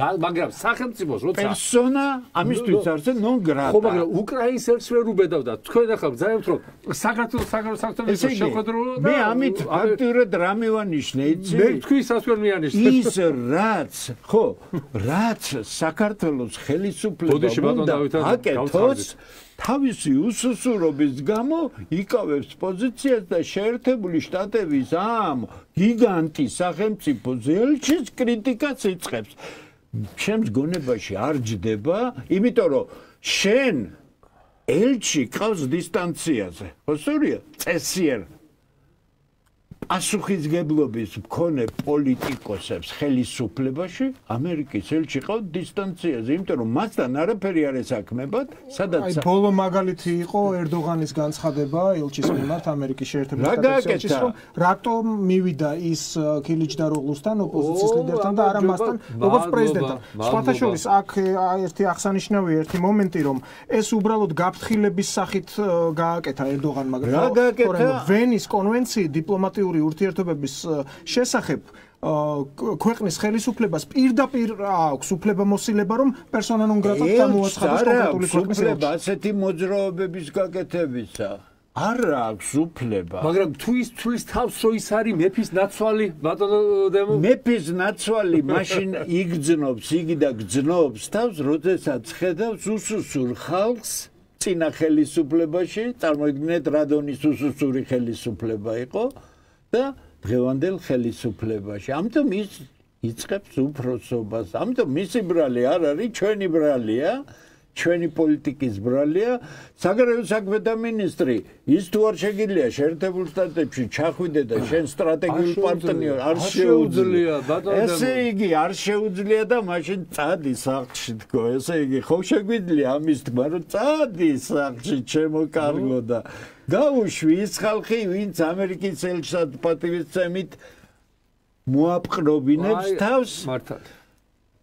მაგრამ სახელმწიფოს როცა პერსონა ამისთვის არზე ნონ გრატა. ხო, მაგრამ უკრაინის ელჩს ვერ უბედავდა. თქვენ ახლა ძაებთ რომ საქართველოს საგარეო საქმეთა შეხვედრა მე ამით აქტიურად რა მივანიშნე, იცი? მე თქვი ისას ვერ მიანიშნე. ის რაც, ხო, რაც საქართველოს ხელისუფლება უნდა აკეთოს თავისი უსუსურობის გამო იკავებს პოზიციას და შეერთებული შტატების ამ გიგანტი სახელმწიფოს ელჩის კრიტიკას იწყებს. ჩემს გონებაში არ ჯდება, იმიტომ რომ შენ ელჩი ყავს დისტანციაზე. ხო, სწორია? წესიერ პასუხისგებლობის მქონე პოლიტიკოსებს ხელისუფლებაში ამერიკის ელჩი ყავს დისტანციაზე, იმიტომ რომ მასთან არაფერი არ ესაქმებათ, სადაც აი ბოლო მაგალითი იყო ერდოღანის განცხადება ელჩის მიმართ ამერიკის შეერთებული შტატების ელჩის, რომ რატომ მივიდა ის ქილიჩდაროღლუსთან ოპოზიციის ლიდერთან და არა მასთან როგორც პრეზიდენტთან. სხვათა შორის აქ ერთი აღსანიშნავია ერთი მომენტი, რომ ეს უბრალოდ გაფრთხილების სახით გააკეთა ერდოღანმა, მაგრამ ვენის კონვენცია დიპლომატიური ურთიერთობების შესახებ ქვეყნის ხელისუფლებას პირდაპირ აქვს უფლებამოსილება, რომ პერსონა ნონ გრატად გამოაცხადოს კონკრეტული ქვეყნის ელჩს. ასეთი მოძრაობების გაკეთებისა არ აქვს უფლება. მაგრამ თუ ის თulis თავს რო ის არის მეფის ნაცვალი, ბატონო დემო? მეფის ნაცვალი მაშინ იგძნობს, იგი და გძნობს თავს, როდესაც ხედავს უსუსურ ხალხს წინა ხელისუფლებაში, წარმოიდგინეთ რადონის უსუსური ხელისუფლება იყო. და დღევანდელ ხელისუფლებაში. ამიტომ ის იწყებს უფროსობას. ამიტომ მისი ბრალი არ არის ჩვენი ბრალია. ჩვენი პოლიტიკის ბრალია საგარეო საქმეთა მინისტრი ის თუ არ შეგიძლია შეერთებულ შტატებში ჩახვიდე და შენ სტრატეგიულ პარტნიორ არ შეუძლია ესე იგი არ შეუძლია და მაშინ წადი სახლში თქო ესე იგი ხო შეგვიძლია ამის თქმა რომ წადი სახლში ჩემო კარგო და გაუშვი ის ხალხი ვინც ამერიკის ელჩად პატივისცემით მოაპყრობინებს თავს მართალ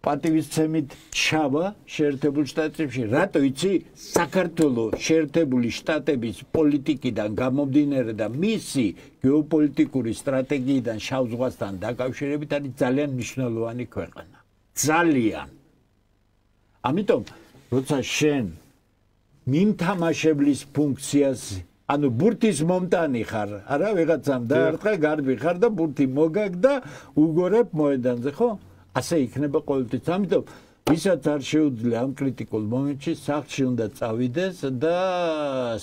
პატივისცემით ჩავა შეერთებულ შტატებში რატო იცი საქართველოს შეერთებული შტატების პოლიტიკიდან გამომდინარე და მისი გეოპოლიტიკური სტრატეგიიდან შავ ზღვასთან დაკავშირებით არის ძალიან მნიშვნელოვანი ქვეყანა ძალიან ამიტომ როცა შენ მიმთამაშებლის ფუნქციას ანუ ბურთის მომტანი ხარ არა ვიღაცამ დაარტყა გარბი ხარ და ბურთი მოგაგ და უგორებ მოედანზე ხო ასე იქნება ყოველთვის. ამიტომ ვისაც არ შეუძლია ამ კრიტიკულ მომენტში სახლში უნდა წავიდეს და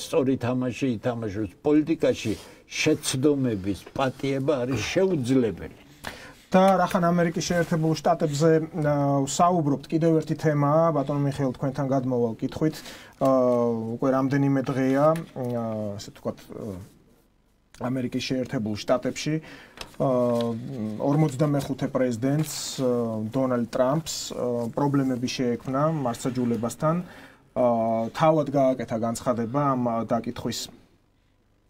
სწორი თამაში ითამაშოს. პოლიტიკაში შეცდომების პატიება არის შეუძლებელი. და რახან ამერიკის შეერთებულ შტატებზე საუბრობთ, კიდევ ერთი თემაა, ბატონო მიხეილ თქვენთან გადმოვალ კითხვით. უკვე რამდენიმე დღეა, ასე ვთქვათ, ამერიკის შეერთებულ შტატებში 45 პრეზიდენტს დონალდ ტრამპს პრობლემები შეექმნა მარცხაჯულებასთან. თავად გააკეთა განცხადება ამ დაკითხვის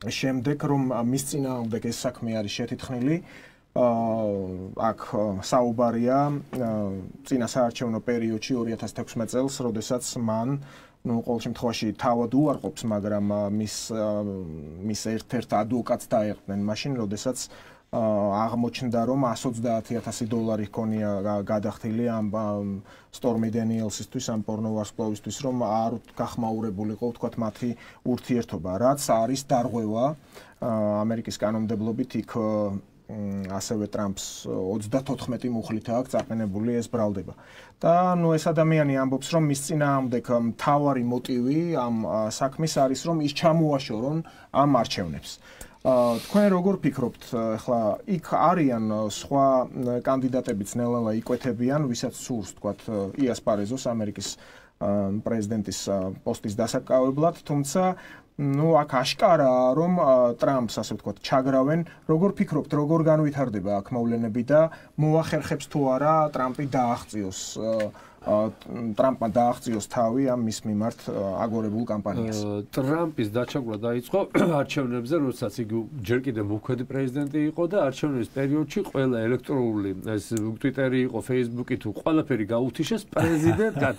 შემდეგ, რომ მის წინააღმდეგ ეს საქმე არის შეთითხნილი. აქ საუბარია წინა საარჩევნო პერიოდში 2016 წელს, როდესაც მან ყოველ შემთხვევაში თავად უარყოფს, მაგრამ მის ერთ-ერთ ადვოკატს დაეყრნენ მაშინ, როდესაც აღმოჩნდა, რომ $130,000 ჰქონია გადახდილი ამ სტორმი დენიელსისთვის, ამ პორნოვარსკვლავისთვის, რომ არ გახმაურებულიყო, ვთქვათ, მათი ურთიერთობა, რაც არის დარღვევა ამერიკის კანონმდებლობით იქ ასევე ტრამპს 34 მუხლით აქვს წაყენებული ეს ბრალდება. და ეს ადამიანი ამბობს, რომ მის წინააღმდეგ მთავარი მოტივი ამ საქმის არის, რომ ის ჩამოაშორონ ამ არჩევნებს. თქვენ როგორ ფიქრობთ, ახლა იქ არიან სხვა კანდიდატებიც ნელა იკვეთებიან, ვისაც სურს, თქვათ, იასპარეზოს ამერიკის პრეზიდენტის პოსტის დასაკავებლად, თუმცა აქ აშკარაა, რომ ტრამპს, ასე ვთქვათ, ჩაგრავენ. როგორ ფიქრობთ, როგორ განვითარდება აქ მოვლენები და მოახერხებს თუ არა ტრამპი დააღწიოს ტრამპმა დააღწიოს თავი ამ მის მიმართ აგორებულ კამპანიას. ტრამპის დაჩაგვრა დაიწყო არჩევნებზე, როდესაც იგი ჯერ კიდევ მოქმედი პრეზიდენტი იყო და არჩევნების პერიოდში ყველა ელექტრონული ეს Twitter-ი იყო, Facebook-ი თუ ყველაფერი გაუთიშეს პრეზიდენტად.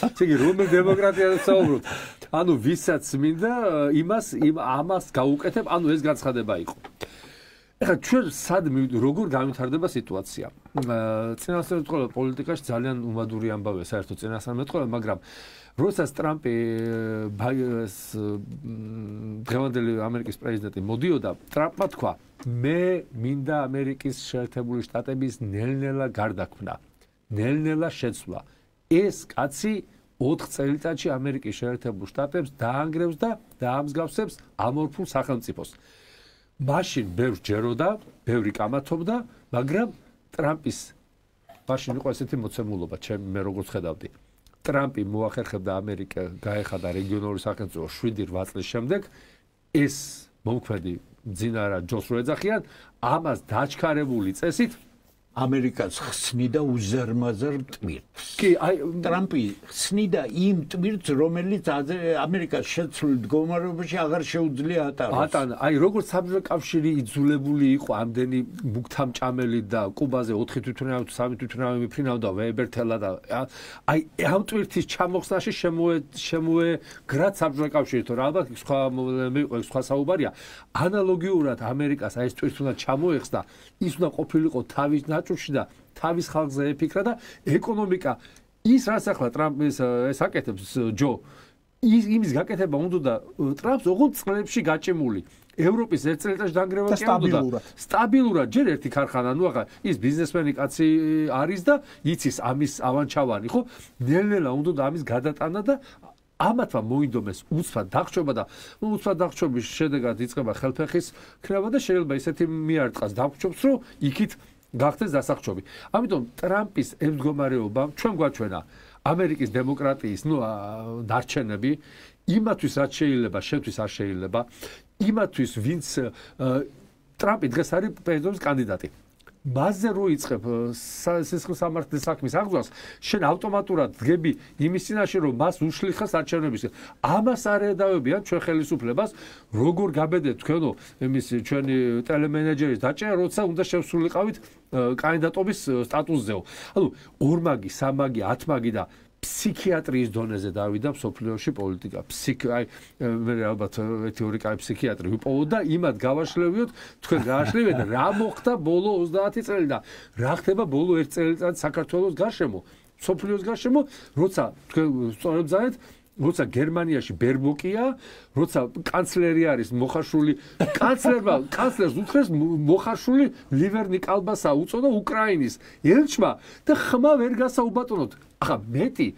ესე იგი რომელ დემოკრატიაზე საუბრობთ? ანუ ვისაც მინდა ამას გაუკეთებ, ანუ ეს განცხადება იყო. ეხლა ჩვენ სად როგორ განვითარდება სიტუაცია? წინასწარმეტყველება პოლიტიკაში ძალიან უმადური ამბავია საერთოდ წინასწარმეტყველება, მაგრამ როდესაც ტრამპი დღევანდელი ამერიკის პრეზიდენტი მოდიოდა, ტრამპმა თქვა, მე მინდა ამერიკის შეერთებული შტატების ნელ-ნელა გარდაქმნა, ნელ-ნელა შეცვლა. ეს კაცი 4 წელიწადში ამერიკის შეერთებულ შტატებს დაანგრევს და დაამსგავსებს ამორფულ სახელმწიფოს. მაშინ ბევრს ჯეროდა, ბევრი კამათობდა, მაგრამ ტრამპის მაშინ იყო ესეთი მოცემულობა, მე როგორც ხედავდი. ტრამპი მოახერხებდა ამერიკა გაეხადა რეგიონალური სახელმწიფო 7-8 წლის შემდეგ, ეს მომქმედი მძინარა ჯოს რო ეძახიან, ამას დაჩქარებული წესით ამერიკას ხსნიდა უზარმაზარ ტვირთს. კი, აი ტრამპი ხსნიდა იმ ტვირთს, რომელიც ამერიკას შეცვლილ მდგომარეობაში აღარ შეუძლია ატაროს. ატანა, აი როგორც საბჭოთა კავშირი იძულებული იყო ამდენი მუქთამჭამელი და კუბაზე 4 თვითმფრინავი თუ 3 თვითმფრინავი მიფრინავდა ვებერთელა და აი ამ ტვირთის ჩამოხსნაში შემოეგრა საბჭოთა კავშირი, თორე ალბათ სხვა საუბარია. ანალოგიურად ამერიკას აი ეს ტვირთი უნდა ჩამოეხსნა, ის უნდა ყოფილიყო თავის და თავის ხალხზე ეფიქრა და ეკონომიკა ის რაც ახლა ტრამპის ეს აკეთებს ჯო იმის გაკეთება უნდა და ტრამპს ოღონდ წლებში გაჭიმული ევროპის ერთ წელიწადში დანგრევა კი უნდა სტაბილურად ჯერ ერთი ქარხანა ნუ ახლა ის ბიზნესმენი კაცი არის და იცის ამის ავანჩავანი ხო ნელ-ნელა უნდა და ამის გადატანა და ამათმა მოინდომეს უცბად დახჭობა და უცბად დახჭობის შედეგად იწყება ხელფეხის ქრება და შეიძლება ისეთი მიარტყას დახჭობს რომ იქით გახდეს დასახჭობი. ამიტომ ტრამპის ემდგომარეობა ჩვენ გვაჩვენა ამერიკის დემოკრატიის დარჩენები იმათვის რაც შეიძლება, შენთვის არ შეიძლება, იმათვის ვინც ტრამპი დღეს არის პრეზიდენტის კანდიდატი. მასზე რო იწყებ სისხლის სამართლის საქმის აღძვას, შენ ავტომატურად დგები იმის წინაშე, რომ მას უშლი ხას არჩევნებისკენ. ამას არ ედავებიან ჩვენ ხელისუფლებას, როგორ გაბედეთ თქვენო იმის ჩვენი ტელემენეჯერის დაჭერა, როცა უნდა შევსულიყავით კანდიდატობის სტატუსზეო. ანუ ორმაგი, სამაგი, ათმაგი და ფსიქიატრიის დონეზე დავიდა მსოფლიოში პოლიტიკა. მე ალბათ თეორიკა ფსიქიატრი ვიპოვოთ და იმად გავაშლევიოთ, თქვენ გააშლევიეთ რა მოხდა ბოლო 30 წელი და რა ხდება ბოლო 1 წელიწად საქართველოს გარშემო, მსოფლიოს გარშემო, როცა თქვენ სწორედ ზარეთ, როცა გერმანიაში ბერბოკია, როცა კანცლერი არის მოხარშული, კანცლერს უთხრეს მოხარშული ლივერნი კალბასა უწოდა უკრაინის ელჩმა და ხმა ვერ გასაუბატონოთ. ახლა მეტი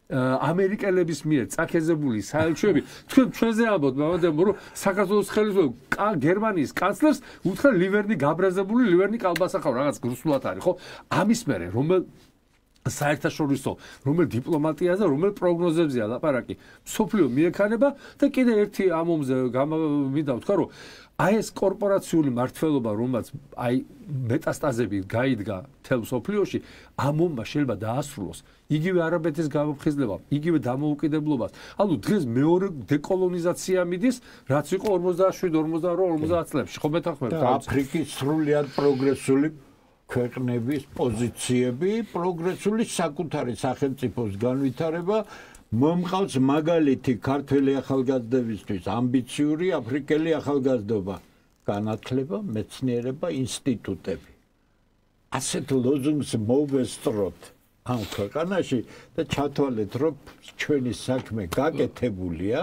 ამერიკელების მიერ წაქეზებული საელჩოები თქვენ ჩვენზე ამბობთ, მაგრამ რომ საქართველოს ხელისუფლება გერმანიის კანცლერს უთხრა ლივერნი გაბრაზებული, ლივერნი კალბასა ხარ რაღაც გრუსულად არის, ხო? ამის მერე რომელ საერთაშორისო რომელ დიპლომატიაზე, რომელ პროგნოზებზეა ლაპარაკი, მსოფლიო მიექანება და კიდე ერთი ამომზე მინდა ვთქვა, რომ აი ეს კორპორაციული მართლობა, რომელსაც აი მეტასტაზები გაიდგა მთელ მსოფლიოში, ამომმა შეიძლება დაასრულოს იგივე არაბეთის გამოფხიზლება, იგივე დამოუკიდებლობას. ანუ დღეს მეორე დეკოლონიზაცია მიდის, რაც იყო 47-48-50 წლებში, ხო მეთანხმებით? აფრიკის სრულიად პროგრესული ქვეყნების პოზიციები, პროგრესული საკუთარი სახელმწიფოს განვითარება მომყავს მაგალითი ქართველი ახალგაზრდებისთვის ამბიციური აფრიკელი ახალგაზრდობა, განათლება, მეცნიერება, ინსტიტუტები. ასეთ ლოზუნგს მოვესწროთ ამ ქვეყანაში და ჩათვალეთ, რომ ჩვენი საქმე გაკეთებულია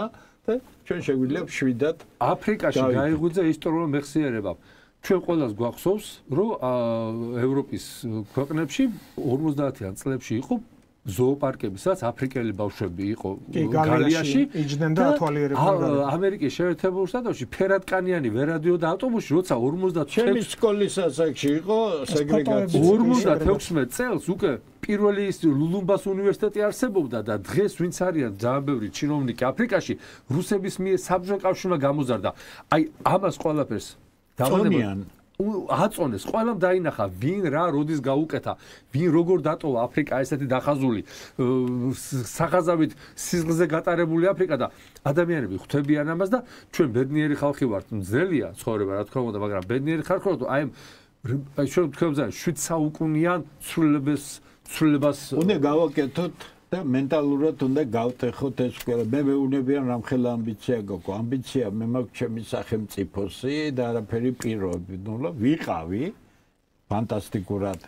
და ჩვენ შეგვიძლია შვიდად აფრიკაში გაიღვიძა ისტორიულ მეხსიერებამ. ჩვენ ყველას გვახსოვს, რომ ევროპის ქვეყნებში 50-იან წლებში იყო ზოოპარკები, სადაც აფრიკელი ბავშვები იყო გალიაში იჯდნენ და ათვალიერებდნენ. ამერიკის შეერთებულ შტატებში ფერადკანიანი ვერ ადიოდა ავტობუსში, როცა 56 ჩემი სკოლის ასაკში იყო სეგრეგაცია. 56 წელს უკვე პირველი ლულუმბას უნივერსიტეტი არსებობდა და დღეს ვინც არიან ძალიან ბევრი ჩინოვნიკი აფრიკაში რუსების მიერ საბჭოთა კავშირმა გამოზარდა. აი ამას ყველაფერს დავანებიან აწონეს, ყველამ დაინახა, ვინ რა როდის გაუკეთა, ვინ როგორ დატოვა აფრიკა ესეთი დახაზული სახაზავით სიზღლზე გატარებული აფრიკა და ადამიანები ხვდებიან ამას და ჩვენ ბედნიერი ხალხი ვართ, მძელია ცხოვრება, რა თქმა უნდა, მაგრამ ბედნიერი ხალხი ვართ, აი ჩვენ თქვენ 7 საუკუნიან ცვლილებას უნდა გავაკეთოთ და მენტალურად უნდა გავტეხოთ ეს ყველა. მე მეუნებიან რამხელა ამბიცია გქონდა. ამბიცია მე მაქვს ჩემი სახელმწიფოსი და არაფერი პირობები. ნუ ვიყავი ფანტასტიკურად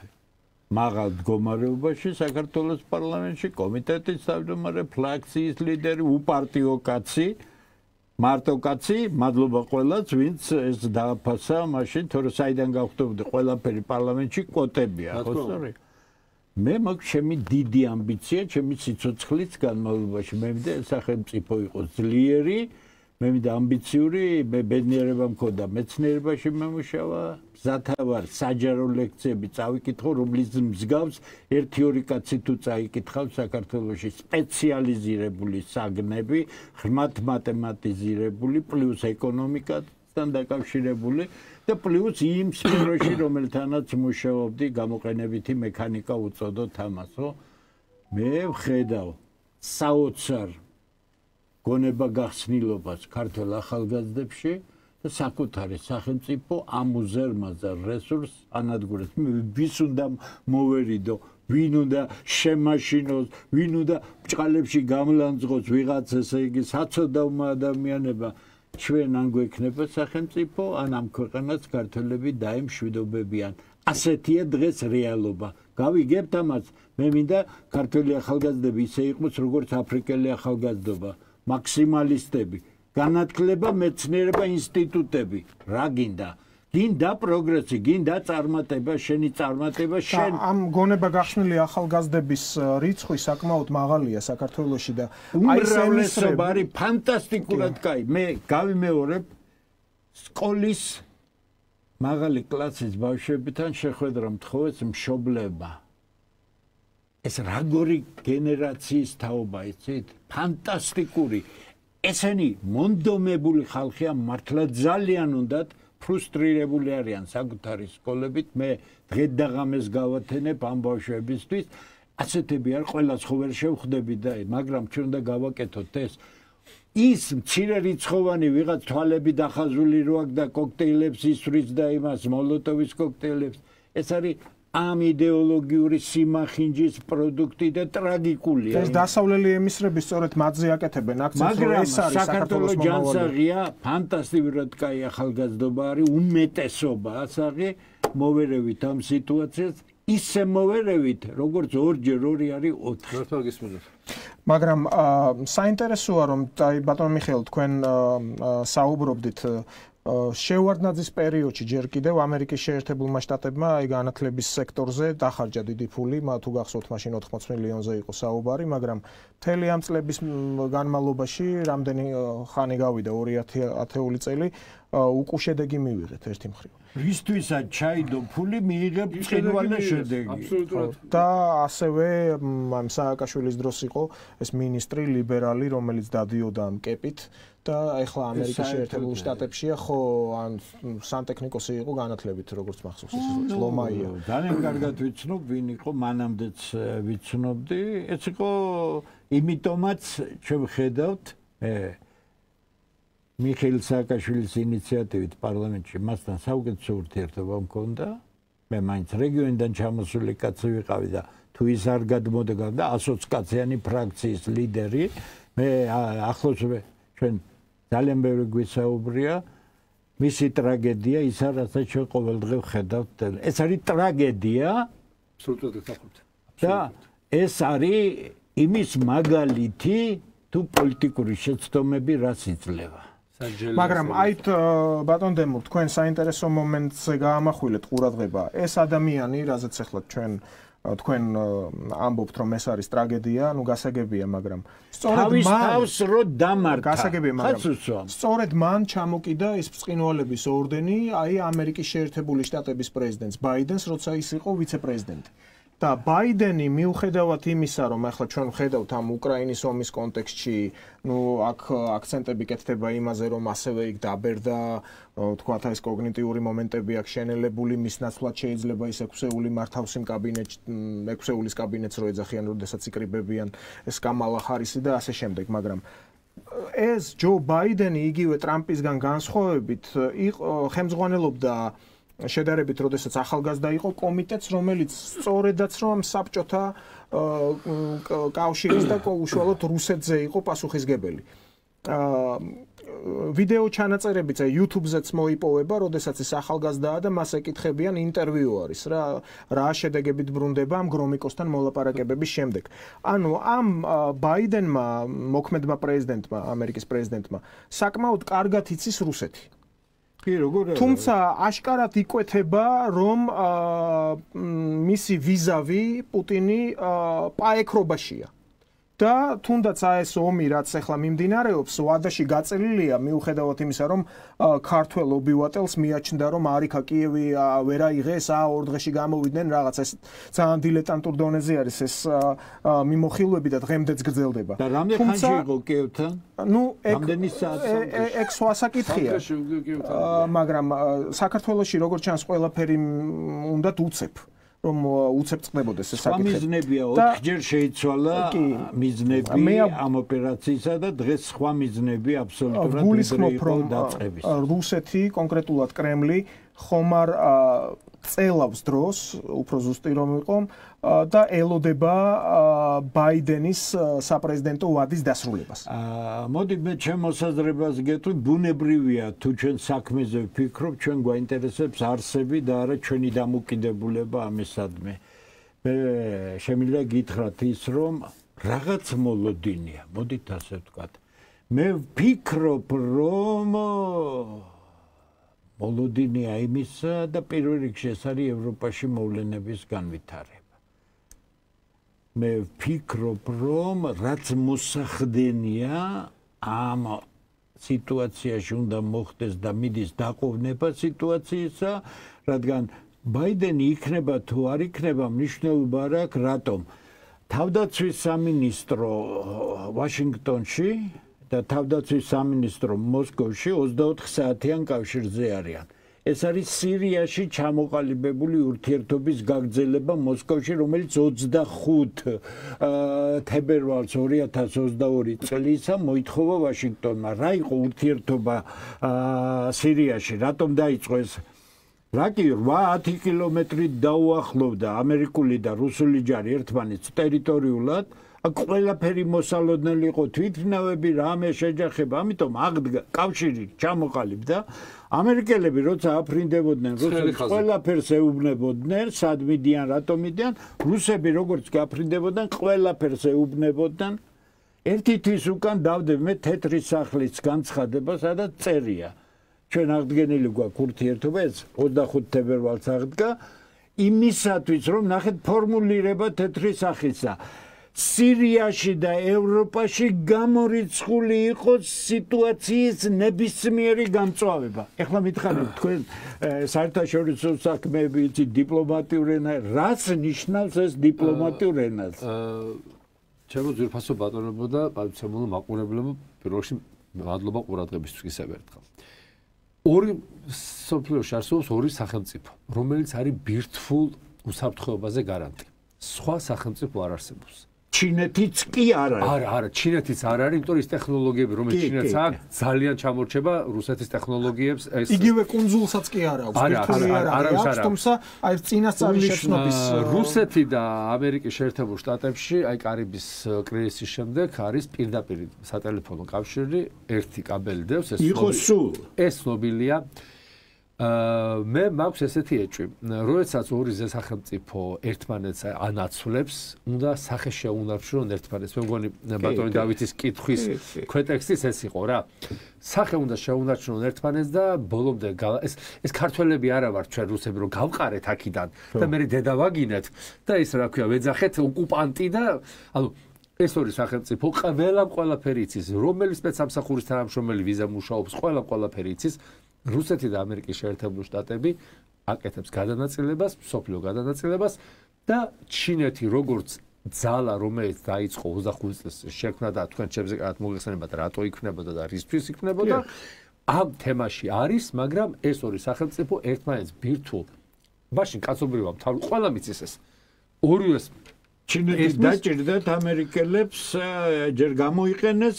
მაღალ მდგომარეობაში საქართველოს პარლამენტში, კომიტეტის თავმჯდომარე, ფრაქციის ლიდერი, უპარტიო კაცი, მარტო კაცი, მადლობა ყველას, ვინც ეს დააფასა მაშინ, თორე საიდან გავხდებოდი ყველაფერი პარლამენტში კვოტებია, ხო სწორი? მე მაქვს ჩემი დიდი ამბიცია, ჩემი სიცოცხლის განმავლობაში. მე მინდა სახელმწიფო იყოს ძლიერი, მე მინდა ამბიციური, მე ბედნიერება მქონდა მეცნიერებაში მომუშავა, მზათა ვარ საჯარო ლექციები წავიკითხო, რომლის მსგავს 1-2 კაცი თუ წაიკითხავს საქართველოში სპეციალიზირებული საგნები, ღრმად მათემატიზირებული, პლუს ეკონომიკასთან დაკავშირებული და პლუს იმ სფეროში, რომელთანაც მუშაობდი, გამოყენებითი მექანიკა უწოდოთ ამას, ხო? მე ვხედავ საოცარ გონება გახსნილობას ქართველ ახალგაზრდებში და საკუთარი სახელმწიფო ამ უზარმაზარ რესურსს ანადგურებს. ვის უნდა მოვერიდო, ვინ უნდა შემაშინოს, ვინ უნდა ბჭყალებში გამლანძღოს ვიღაც, ესე იგი საცოდავმა ადამიანება. ჩვენ ან გვექნება სახელმწიფო, ან ამ ქვეყანას ქართველები დაემშვიდობებიან. ასეთია დღეს რეალობა. გავიგებთ ამას? მე მინდა ქართველი ახალგაზრდები ისე იყოს, როგორც აფრიკელი ახალგაზრდობა. მაქსიმალისტები, განათლება, მეცნიერება, ინსტიტუტები. რა გინდა? გინდა პროგრესი, გინდა წარმატება, შენი წარმატება, შენ ამ გონება გახსნილი ახალგაზრდების რიცხვი საკმაოდ მაღალია საქართველოში და აი ეს არის ფანტასტიკურად კაი. მე გავიმეორებ სკოლის მაღალი კლასის ბავშვებთან შეხვედრა მთხოვეს მშობლება. ეს როგორი გენერაციის თაობა იცით? ფანტასტიკური. ესენი მონდომებული ხალხია, მართლა ძალიან უნდათ ფრუსტრირებული არიან საკუთარი სკოლებით. მე დღე-დაღამეს გავათენებ ამ ბავშვებისთვის. ასეთები არ ყველას ხო ვერ შევხვდები და მაგრამ ჩვენ უნდა გავაკეთოთ ეს. ის მცირე რიცხოვანი ვიღაც თვალები დახაზული რო აქვს და კოქტეილებს ისვრის და იმას მოლოტოვის კოქტეილებს. ეს არის ამ იდეოლოგიური სიმახინჯის პროდუქტი და ტრაგიკულია. ეს დასავლელი ემისრები სწორედ მათზე აკეთებენ აქცენტს, რომ ეს არის საქართველოს ჯანსაღია, ფანტასტიკურად კაი ახალგაზრდობა არის, უმეტესობა ასაღი, მოვერევით ამ სიტუაციას, ისე მოვერევით, როგორც 2-ჯერ 2 არის 4. მართლა გისმენთ. მაგრამ საინტერესოა რომ აი ბატონ მიხეილ თქვენ საუბრობდით შევარდნაძის პერიოდში ჯერ კიდევ ამერიკის შეერთებულმა შტატებმა აი განათლების სექტორზე დახარჯა დიდი ფული, თუ გახსოვთ მაშინ 80 მილიონზე იყო საუბარი, მაგრამ მთელი ამ წლების განმავლობაში რამდენი ხანი გავიდა 2010 წელი უკუშედეგი მივიღეთ ერთი მხრივ. რისთვისაც ჩაიდო ფული მიიღებ წინვალე შედეგი. აბსოლუტურად. და ასევე ამ სააკაშვილის დროს იყო ეს მინისტრი ლიბერალი, რომელიც დადიოდა ამ კეპით და ეხლა ამერიკის შეერთებულ შტატებშია ხო ან სანტექნიკოსი იყო განათლებით როგორც მახსოვს ეს ლომაია. ძალიან კარგად ვიცნობ ვინ იყო, მანამდეც ვიცნობდი. ეს იყო იმიტომაც ჩვენ ვხედავთ მიხეილ სააკაშვილის ინიციატივით პარლამენტში მასთან საუკეთესო ურთიერთობა მქონდა. მე მაინც რეგიონიდან ჩამოსული კაცი ვიყავი და თუ ის არ გადმოდგა და 120 კაციანი ფრაქციის ლიდერი, მე ახლოს ჩვენ ძალიან ბევრი გვისაუბრია მისი ტრაგედია, ის რასაც ჩვენ ყოველდღე ვხედავთ. ეს არის ტრაგედია. აბსოლუტურად გასახმართ. და ეს არის იმის მაგალითი თუ პოლიტიკური შეცდომები რას იძლევა. მაგრამ აით ბატონ დემურ თქვენ საინტერესო მომენტზე გაამახვილეთ ყურადღება. ეს ადამიანი, რაზეც ახლა თქვენ ამბობთ რომ ეს არის ტრაგედია, ანუ გასაგებია, მაგრამ სწორედ თავს რო დამართა. გასაგებია, მაგრამ სწორედ მან ჩამოკიდა ეს ბრწყინვალების ორდენი, აი ამერიკის შეერთებული შტატების პრეზიდენტს ბაიდენს, როცა ის იყო ვიცე-პრეზიდენტი. და ბაიდენი მიუხედავად იმისა, რომ ახლა ჩვენ ვხედავთ ამ უკრაინის ომის კონტექსტში, აქ აქცენტები კეთდება იმაზე, რომ ასევე იქ დაბერდა, თქვათ ეს კოგნიტიური მომენტები აქ შენელებული, მის ნაცვლად შეიძლება ის 6-ეული მართავსი კაბინეტში, 6-ეულის კაბინეტს რო ეძახიან, როდესაც იკრიბებიან ეს კამალა ჰარისი და ასე შემდეგ, მაგრამ ეს ჯო ბაიდენი იგივე ტრამპისგან განსხვავებით ხელმძღვანელობდა შედარებით, როდესაც ახალგაზრდა იყო კომიტეტს, რომელიც სწორედაც რომ საბჭოთა კავშირის და უშუალოდ რუსეთზე იყო პასუხისგებელი. ვიდეო ჩანაწერებიც YouTube-ზეც მოიპოვება, როდესაც ის ახალგაზრდაა და მას ეკითხებიან, ინტერვიუ არის რა შედეგებით ბრუნდება ამ გრომიკოსთან მოლაპარაკებების შემდეგ. ანუ ამ ბაიდენმა, მოქმედმა პრეზიდენტმა, ამერიკის პრეზიდენტმა, საკმაოდ კარგად იცის რუსეთი. თუმცა აშკარად იკვეთება, რომ მისი ვიზავი პუტინი პაექრობაშია. და თუნდაც ეს ომი, რაც ახლა მიმდინარეობს, ვადაში გაწელილია, მიუხედავად იმისა, რომ ქართველ ობივატელს მიაჩნდა, რომ არიქა კიევი ვერ აიღეს, 2 დღეში გამოვიდნენ, რაღაც ეს ძალიან დილეტანტურ დონეზე არის ეს მიმოხილვები და დღემდეც გრძელდება. და რამდენი ხანში იყო კიევთან? ნუ რამდენი საათი? ეგ სხვა საკითხია. მაგრამ საქართველოში როგორც ჩანს, ყველაფერი უნდათ უცებ. რომ უცებ წყდებოდეს ეს საკითხი. მიზნებია 4-ჯერ შეიცვალა მიზნები ამ ოპერაციისა და დღეს სხვა მიზნები აბსოლუტურად გულისხმობ რომ რუსეთი, კონკრეტულად კრემლი ხომარ წელავს დროს, უფრო ზუსტი რომ იყო და ელოდება ბაიდენის საპრეზიდენტო ვადის დასრულებას. მოდი მე ჩემ მოსაზრებას გეტყვი, ბუნებრივია თუ ჩვენ საქმეზე ვფიქრობ, ჩვენ გვაინტერესებს არსები და არა ჩვენი დამოკიდებულება ამისადმი. მე შემიძლია გითხრათ ის, რომ რაღაც მოლოდინია, მოდით ასე ვთქვათ. მე ვფიქრობ, რომ მოლოდინია იმისა და პირველ რიგში ეს არის ევროპაში მოვლენების განვითარება. მე ვფიქრობ, რომ რაც მოსახდენია ამ სიტუაციაში უნდა მოხდეს და მიდის დაყოვნება სიტუაციისა, რადგან ბაიდენი იქნება თუ არ იქნება, მნიშვნელობა არ აქვს, რატომ? თავდაცვის სამინისტრო ვაშინგტონში და თავდაცვის სამინისტრო მოსკოვში 24 საათიან კავშირზე არიან. ეს არის სირიაში ჩამოყალიბებული ურთიერთობის გაგრძელება მოსკოვში, რომელიც 25 თებერვალს 2022 წლისა მოითხოვა ვაშინგტონმა. რა იყო ურთიერთობა სირიაში? რატომ დაიწყო ეს? რა კი 8-10 კილომეტრით დაუახლოვდა ამერიკული და რუსული ჯარი ერთმანეთს ტერიტორიულად. ყველაფერი მოსალოდნელი იყო, თვითმფრინავები, რამე შეჯახება, ამიტომ აღდგა კავშირი ჩამოყალიბდა. ამერიკელები როცა აფრინდებოდნენ რუსებს ყველაფერს ეუბნებოდნენ, სად მიდიან, რატომ მიდიან, რუსები როგორც გაფრინდებოდნენ, ყველაფერს ეუბნებოდნენ. ერთი თვის უკან დავდებ მე თეთრი სახლის განცხადება, სადაც წერია. ჩვენ აღდგენილი გვაქვს ურთიერთობა, ეს 25 თებერვალს აღდგა, იმისათვის რომ ნახეთ ფორმულირება თეთრი სახისა. სირიაში და ევროპაში გამორიცხული იყოს სიტუაციის ნებისმიერი გამწვავება. ეხლა მითხარით თქვენ საერთაშორისო საქმეები იცით დიპლომატიურ ენა, რას ნიშნავს ეს დიპლომატიურ ენაზე? ჩემო ძვირფასო ბატონებო და პატივცემულო მაყურებლებო, პირველ რიგში მადლობა ყურადღებისთვის ისევ ერთხელ. ორი სოფლიოში არსებობს ორი სახელმწიფო, რომელიც არის ბირთვულ უსაფრთხოებაზე გარანტი. სხვა სახელმწიფო არ არსებობს. ჩინეთიც კი არ არის. არა, ჩინეთიც არ არის, იმიტომ ის ტექნოლოგიები, რომელიც ჩინეთს აქვს, ძალიან ჩამორჩება რუსეთის ტექნოლოგიებს. ეს იგივე კუნძულსაც კი არ აქვს, ბირთვული არ არის, თუმცა აი წინასწარი შეცნობის რუსეთი და ამერიკის შეერთებულ შტატებში, აი კარიბის კრიზისის შემდეგ არის პირდაპირ სატელეფონო კავშირი, ერთი კაბელი დევს, ეს ცნობილია. მე მაქვს ესეთი ეჭვი, როდესაც ორი სახელმწიფო ერთმანეთს ანაცვლებს, უნდა სახე შეუნარჩუნონ ერთმანეთს. მე მგონი ბატონი დავითის კითხვის ქვეტექსტიც ეს იყო რა. სახე უნდა შეუნარჩუნონ ერთმანეთს და ბოლომდე ეს ქართველები არა ვართ ჩვენ რუსები, რომ გავყარეთ აქედან და მე დედა ვაგინეთ და ის რა ქვია, ვეძახეთ ოკუპანტი და ანუ ეს ორი სახელმწიფო ყველაფერი იცის, რომელი სპეცსამსახურის თანამშრომელი ვიზა მუშაობს, ყველაფერი იცის. რუსეთი და ამერიკის შეერთებული შტატები აკეთებს გადანაწილებას, მსოფლიო გადანაწილებას და ჩინეთი როგორც ძალა, რომელიც დაიწყო 25 წელს შექმნა და თქვენ ჩემზე კარგად მოგეხსენებათ რატო იქნებოდა და რისთვის იქნებოდა, ამ თემაში არის, მაგრამ ეს ორი სახელმწიფო ერთმანეთს ბირთვულ მაშინ კაცობრიობამ თავი ყველა მიცის ეს. ორივეს ჩინეთის დაჭირდათ ამერიკელებს ჯერ გამოიყენეს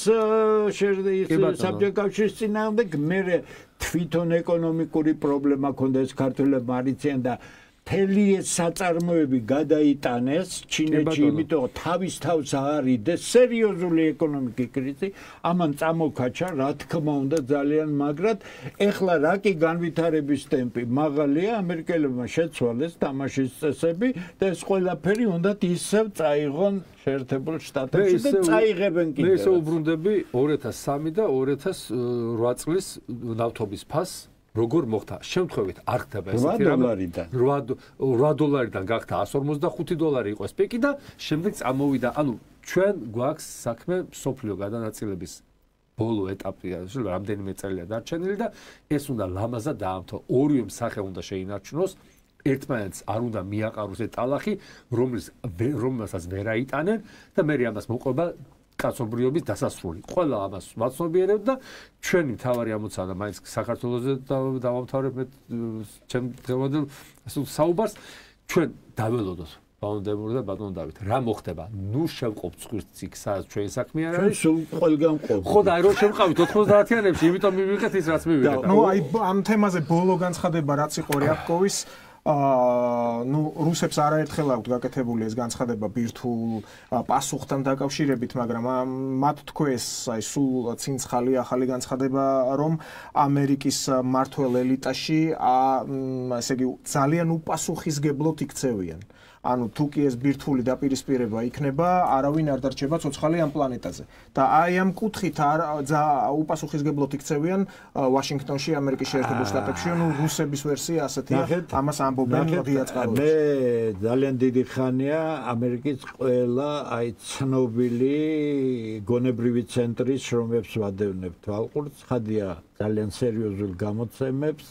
საბჭოთა კავშირის წინააღმდეგ, მერე თვითონ ეკონომიკური პრობლემა ქონდა ეს ქართველებმა არიციან და მთელი ეს საწარმოები გადაიტანეს ჩინეთში, იმიტომ თავის თავს აარიდეს სერიოზული ეკონომიკური კრიზისი, ამან წამოქაჩა, რა თქმა უნდა ძალიან მაგრად. ეხლა რა კი განვითარების ტემპი მაღალია, ამერიკელებმა შეცვალეს თამაშის წესები და ეს ყველაფერი უნდათ ისევ წაიღონ შეერთებულ შტატებში და წაიღებენ კიდევ. მე ისე უბრუნდები 2003 და 2008 წლის ნავთობის ფასს როგორ მოხდა? შემთხვევით არ ხდება ესეთი რამე. 8 დოლარიდან გახდა 145 დოლარი იყო ეს პიკი და შემდეგ წამოვიდა. ანუ ჩვენ გვაქვს საქმე სოფლიო გადანაწილების ბოლო ეტაპია, რამდენიმე წელია დარჩენილი და ეს უნდა ლამაზად დაამთავროს. ორივე სახე უნდა შეინარჩუნოს. ერთმანეთს არ უნდა მიაყაროს ეს ტალახი, რომელსაც ვერ აიტანენ და მე ამას მოყვება კაცობრიობის დასასრული. ყველა ამას ვაცნობიერებ და ჩვენი მთავარი ამოცანა მაინც საქართველოსზე დავამთავრებ მე ჩემ დღევანდელ საუბარს, ჩვენ დაველოდოთ ბატონ და ბატონ დავით. რა მოხდება? ნუ შევყობთ ცხვირს იქ, სადაც ჩვენი საქმე არ არის. სულ ყველგან ყოფ. ხო და აი რომ შევყავით 90-იანებში, იმიტომ მივიღეთ ის რაც მივიღეთ. ნუ აი ამ თემაზე ბოლო განცხადება რაც იყო რიაკოვის ნუ რუსებს არაერთხელ აქვთ გაკეთებული ეს განცხადება ბირთვულ პასუხთან დაკავშირებით, მაგრამ მათ თქვეს აი სულ ცინცხალი ახალი განცხადება, რომ ამერიკის მმართველ ელიტაში ესე იგი ძალიან უპასუხისგებლოდ იქცევიან. ანუ თუ კი ეს ბირთვული დაპირისპირება იქნება, არავინ არ დარჩება ცოცხალი ამ პლანეტაზე. და აი ამ კუთხით უპასუხისგებლოდ იქცევიან ვაშინგტონში, ამერიკის შეერთებულ შტატებში, ანუ რუსების ვერსია ასეთია, ამას ამბობენ დიაწყაროებში. მე ძალიან დიდი ხანია ამერიკის ყველა აი ცნობილი გონებრივი ცენტრის შრომებს ვადევნებ თვალყურს, ხადია ძალიან სერიოზულ გამოცემებს.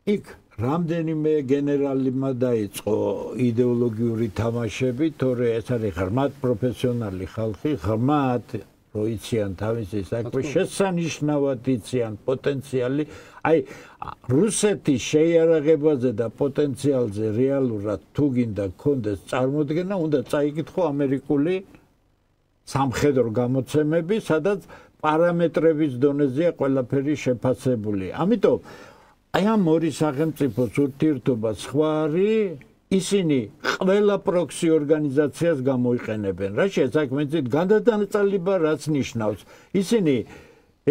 იქ რამდენიმე გენერალმა დაიწყო იდეოლოგიური თამაშები, თორე ეს არის ღრმად პროფესიონალი ხალხი, ღრმად როიციან თავისი საქმე, შესანიშნავად იციან პოტენციალი, აი რუსეთის შეიარაღებაზე და პოტენციალზე რეალურად თუ გინდა გქონდეს წარმოდგენა, უნდა წაიკითხო ამერიკული სამხედრო გამოცემები, სადაც პარამეტრების დონეზეა ყველაფერი შეფასებული. ამიტომ აი ამ ორი სახელმწიფოს ურთიერთობა სხვა არის, ისინი ყველა პროქსი ორგანიზაციას გამოიყენებენ. რა შეესაბამებით განდანაწილება რაც ნიშნავს, ისინი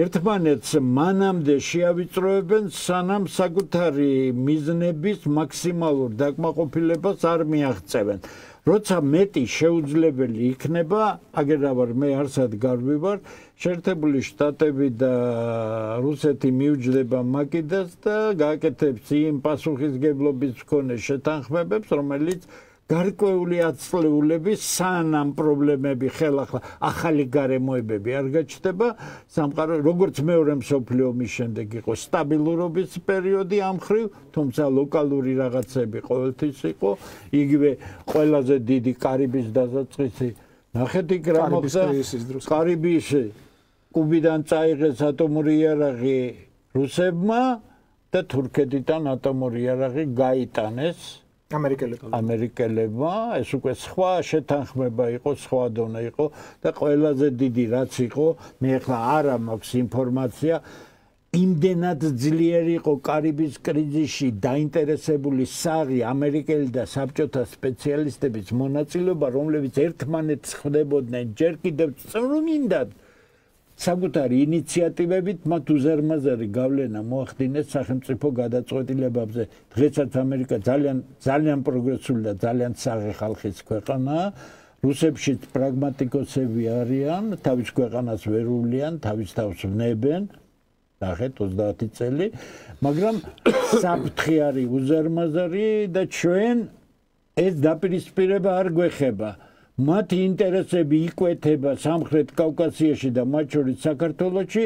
ერთმანეთს მანამდე შეავიწროებენ, სანამ საკუთარი მიზნების მაქსიმალურ დაკმაყოფილებას არ მიაღწევენ. როცა მეტი შეუძლებელი იქნება, აგერავარ მე არსად გარბივარ, შეერთებული შტატები და რუსეთი მიუჯდება მაკიდას და გააკეთებს იმ პასუხისგებლობის მქონე შეთანხმებებს, რომელიც გარკვეული ათწლეულების სანამ პრობლემები ხელახლა ახალი გარემოებები არ გაჩნდება, სამყარო როგორც მეორე მსოფლიო ომის შემდეგ იყო სტაბილურობის პერიოდი ამ ხრივ, თუმცა ლოკალური რაღაცები ყოველთვის იყო, იგივე ყველაზე დიდი კარიბის დასაწყისი ნახეთ იქ რა მოხდა კარიბის კუბიდან წაიღეს ატომური იარაღი რუსებმა და თურქეთიდან ატომური იარაღი გაიტანეს ამერიკელებმა, ეს უკვე სხვა შეთანხმება იყო, სხვა დონე იყო და ყველაზე დიდი რაც იყო, მე ახლა არა მაქვს ინფორმაცია, იმდენად ძლიერი იყო კარიბის კრიზისში დაინტერესებული საღი ამერიკელი და საბჭოთა სპეციალისტების მონაწილეობა, რომლებიც ერთმანეთს ხვდებოდნენ ჯერ კიდევ წვრილმინდად საკუთარი ინიციატივებით მათ უზარმაზარი გავლენა მოახდინეს სახელმწიფო გადაწყვეტილებებზე. დღესაც ამერიკა ძალიან პროგრესული და ძალიან საღი ხალხის ქვეყანაა. რუსებშიც პრაგმატიკოსები არიან, თავის ქვეყანას ვერ უვლიან, თავის თავს ვნებენ. ნახეთ 30 წელი, მაგრამ საფრთხე არის უზარმაზარი და ჩვენ ეს დაპირისპირება არ გვეხება. მათი ინტერესები იკვეთება სამხრეთ კავკასიაში და მათ შორის საქართველოში,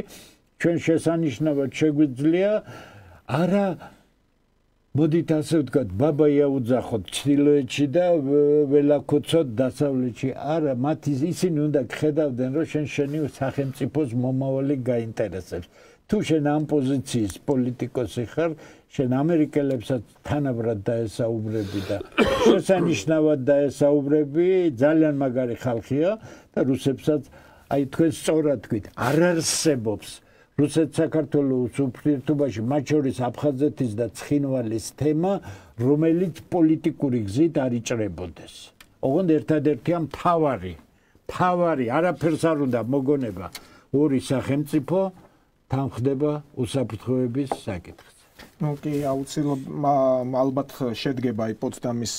ჩვენ შესანიშნავად შეგვიძლია არა მოდით ასე ვთქვათ, ბაბა იაუძახოთ ჩრდილოეთში და ველაქოცოთ დასავლეთში. არა, მათ ისინი უნდა გხედავდნენ, რომ შენი სახელმწიფოს მომავალი გაინტერესებს. თუ შენ ამ პოზიციის პოლიტიკოსი ხარ, შენ ამერიკელებსაც თანაბრად დაესაუბრები და შესანიშნავად დაესაუბრები, ძალიან მაგარი ხალხია და რუსებსაც აი თქვენ სწორად თქვით, არ არსებობს რუსეთ-საქართველოს ურთიერთობაში, მათ შორის აფხაზეთის და ცხინვალის თემა, რომელიც პოლიტიკური გზით არ იჭრებოდეს. ოღონდ ერთადერთია მთავარი, არაფერს არ უნდა მოგონება ორი სახელმწიფო თან ხდება უსაფრთხოების საკითხი. კი, ალბათ შედგება აი პოტსდამის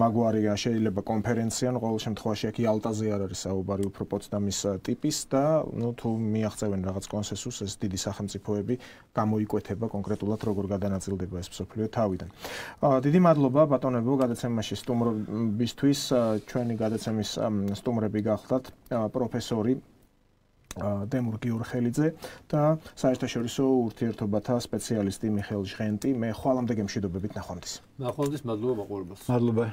მაგვარია შეიძლება კონფერენცია, ყოველ შემთხვევაში აქ იალტაზე არ არის საუბარი, უფრო პოტსდამის ტიპის და თუ მიაღწევენ რაღაც კონსენსუსს, ეს დიდი სახელმწიფოები გამოიკვეთება კონკრეტულად როგორ გადანაწილდება ეს მსოფლიო თავიდან. დიდი მადლობა ბატონებო გადაცემაში სტუმრობისთვის, ჩვენი გადაცემის სტუმრები გახლდათ პროფესორი დემურ გიორხელიძე და საერთაშორისო ურთიერთობათა სპეციალისტი მიხეილ ჟღენტი. მე ხვალამდე გემშვიდობებით ნახვამდის. ნახვამდის, მადლობა მაყურებელს. მადლობა.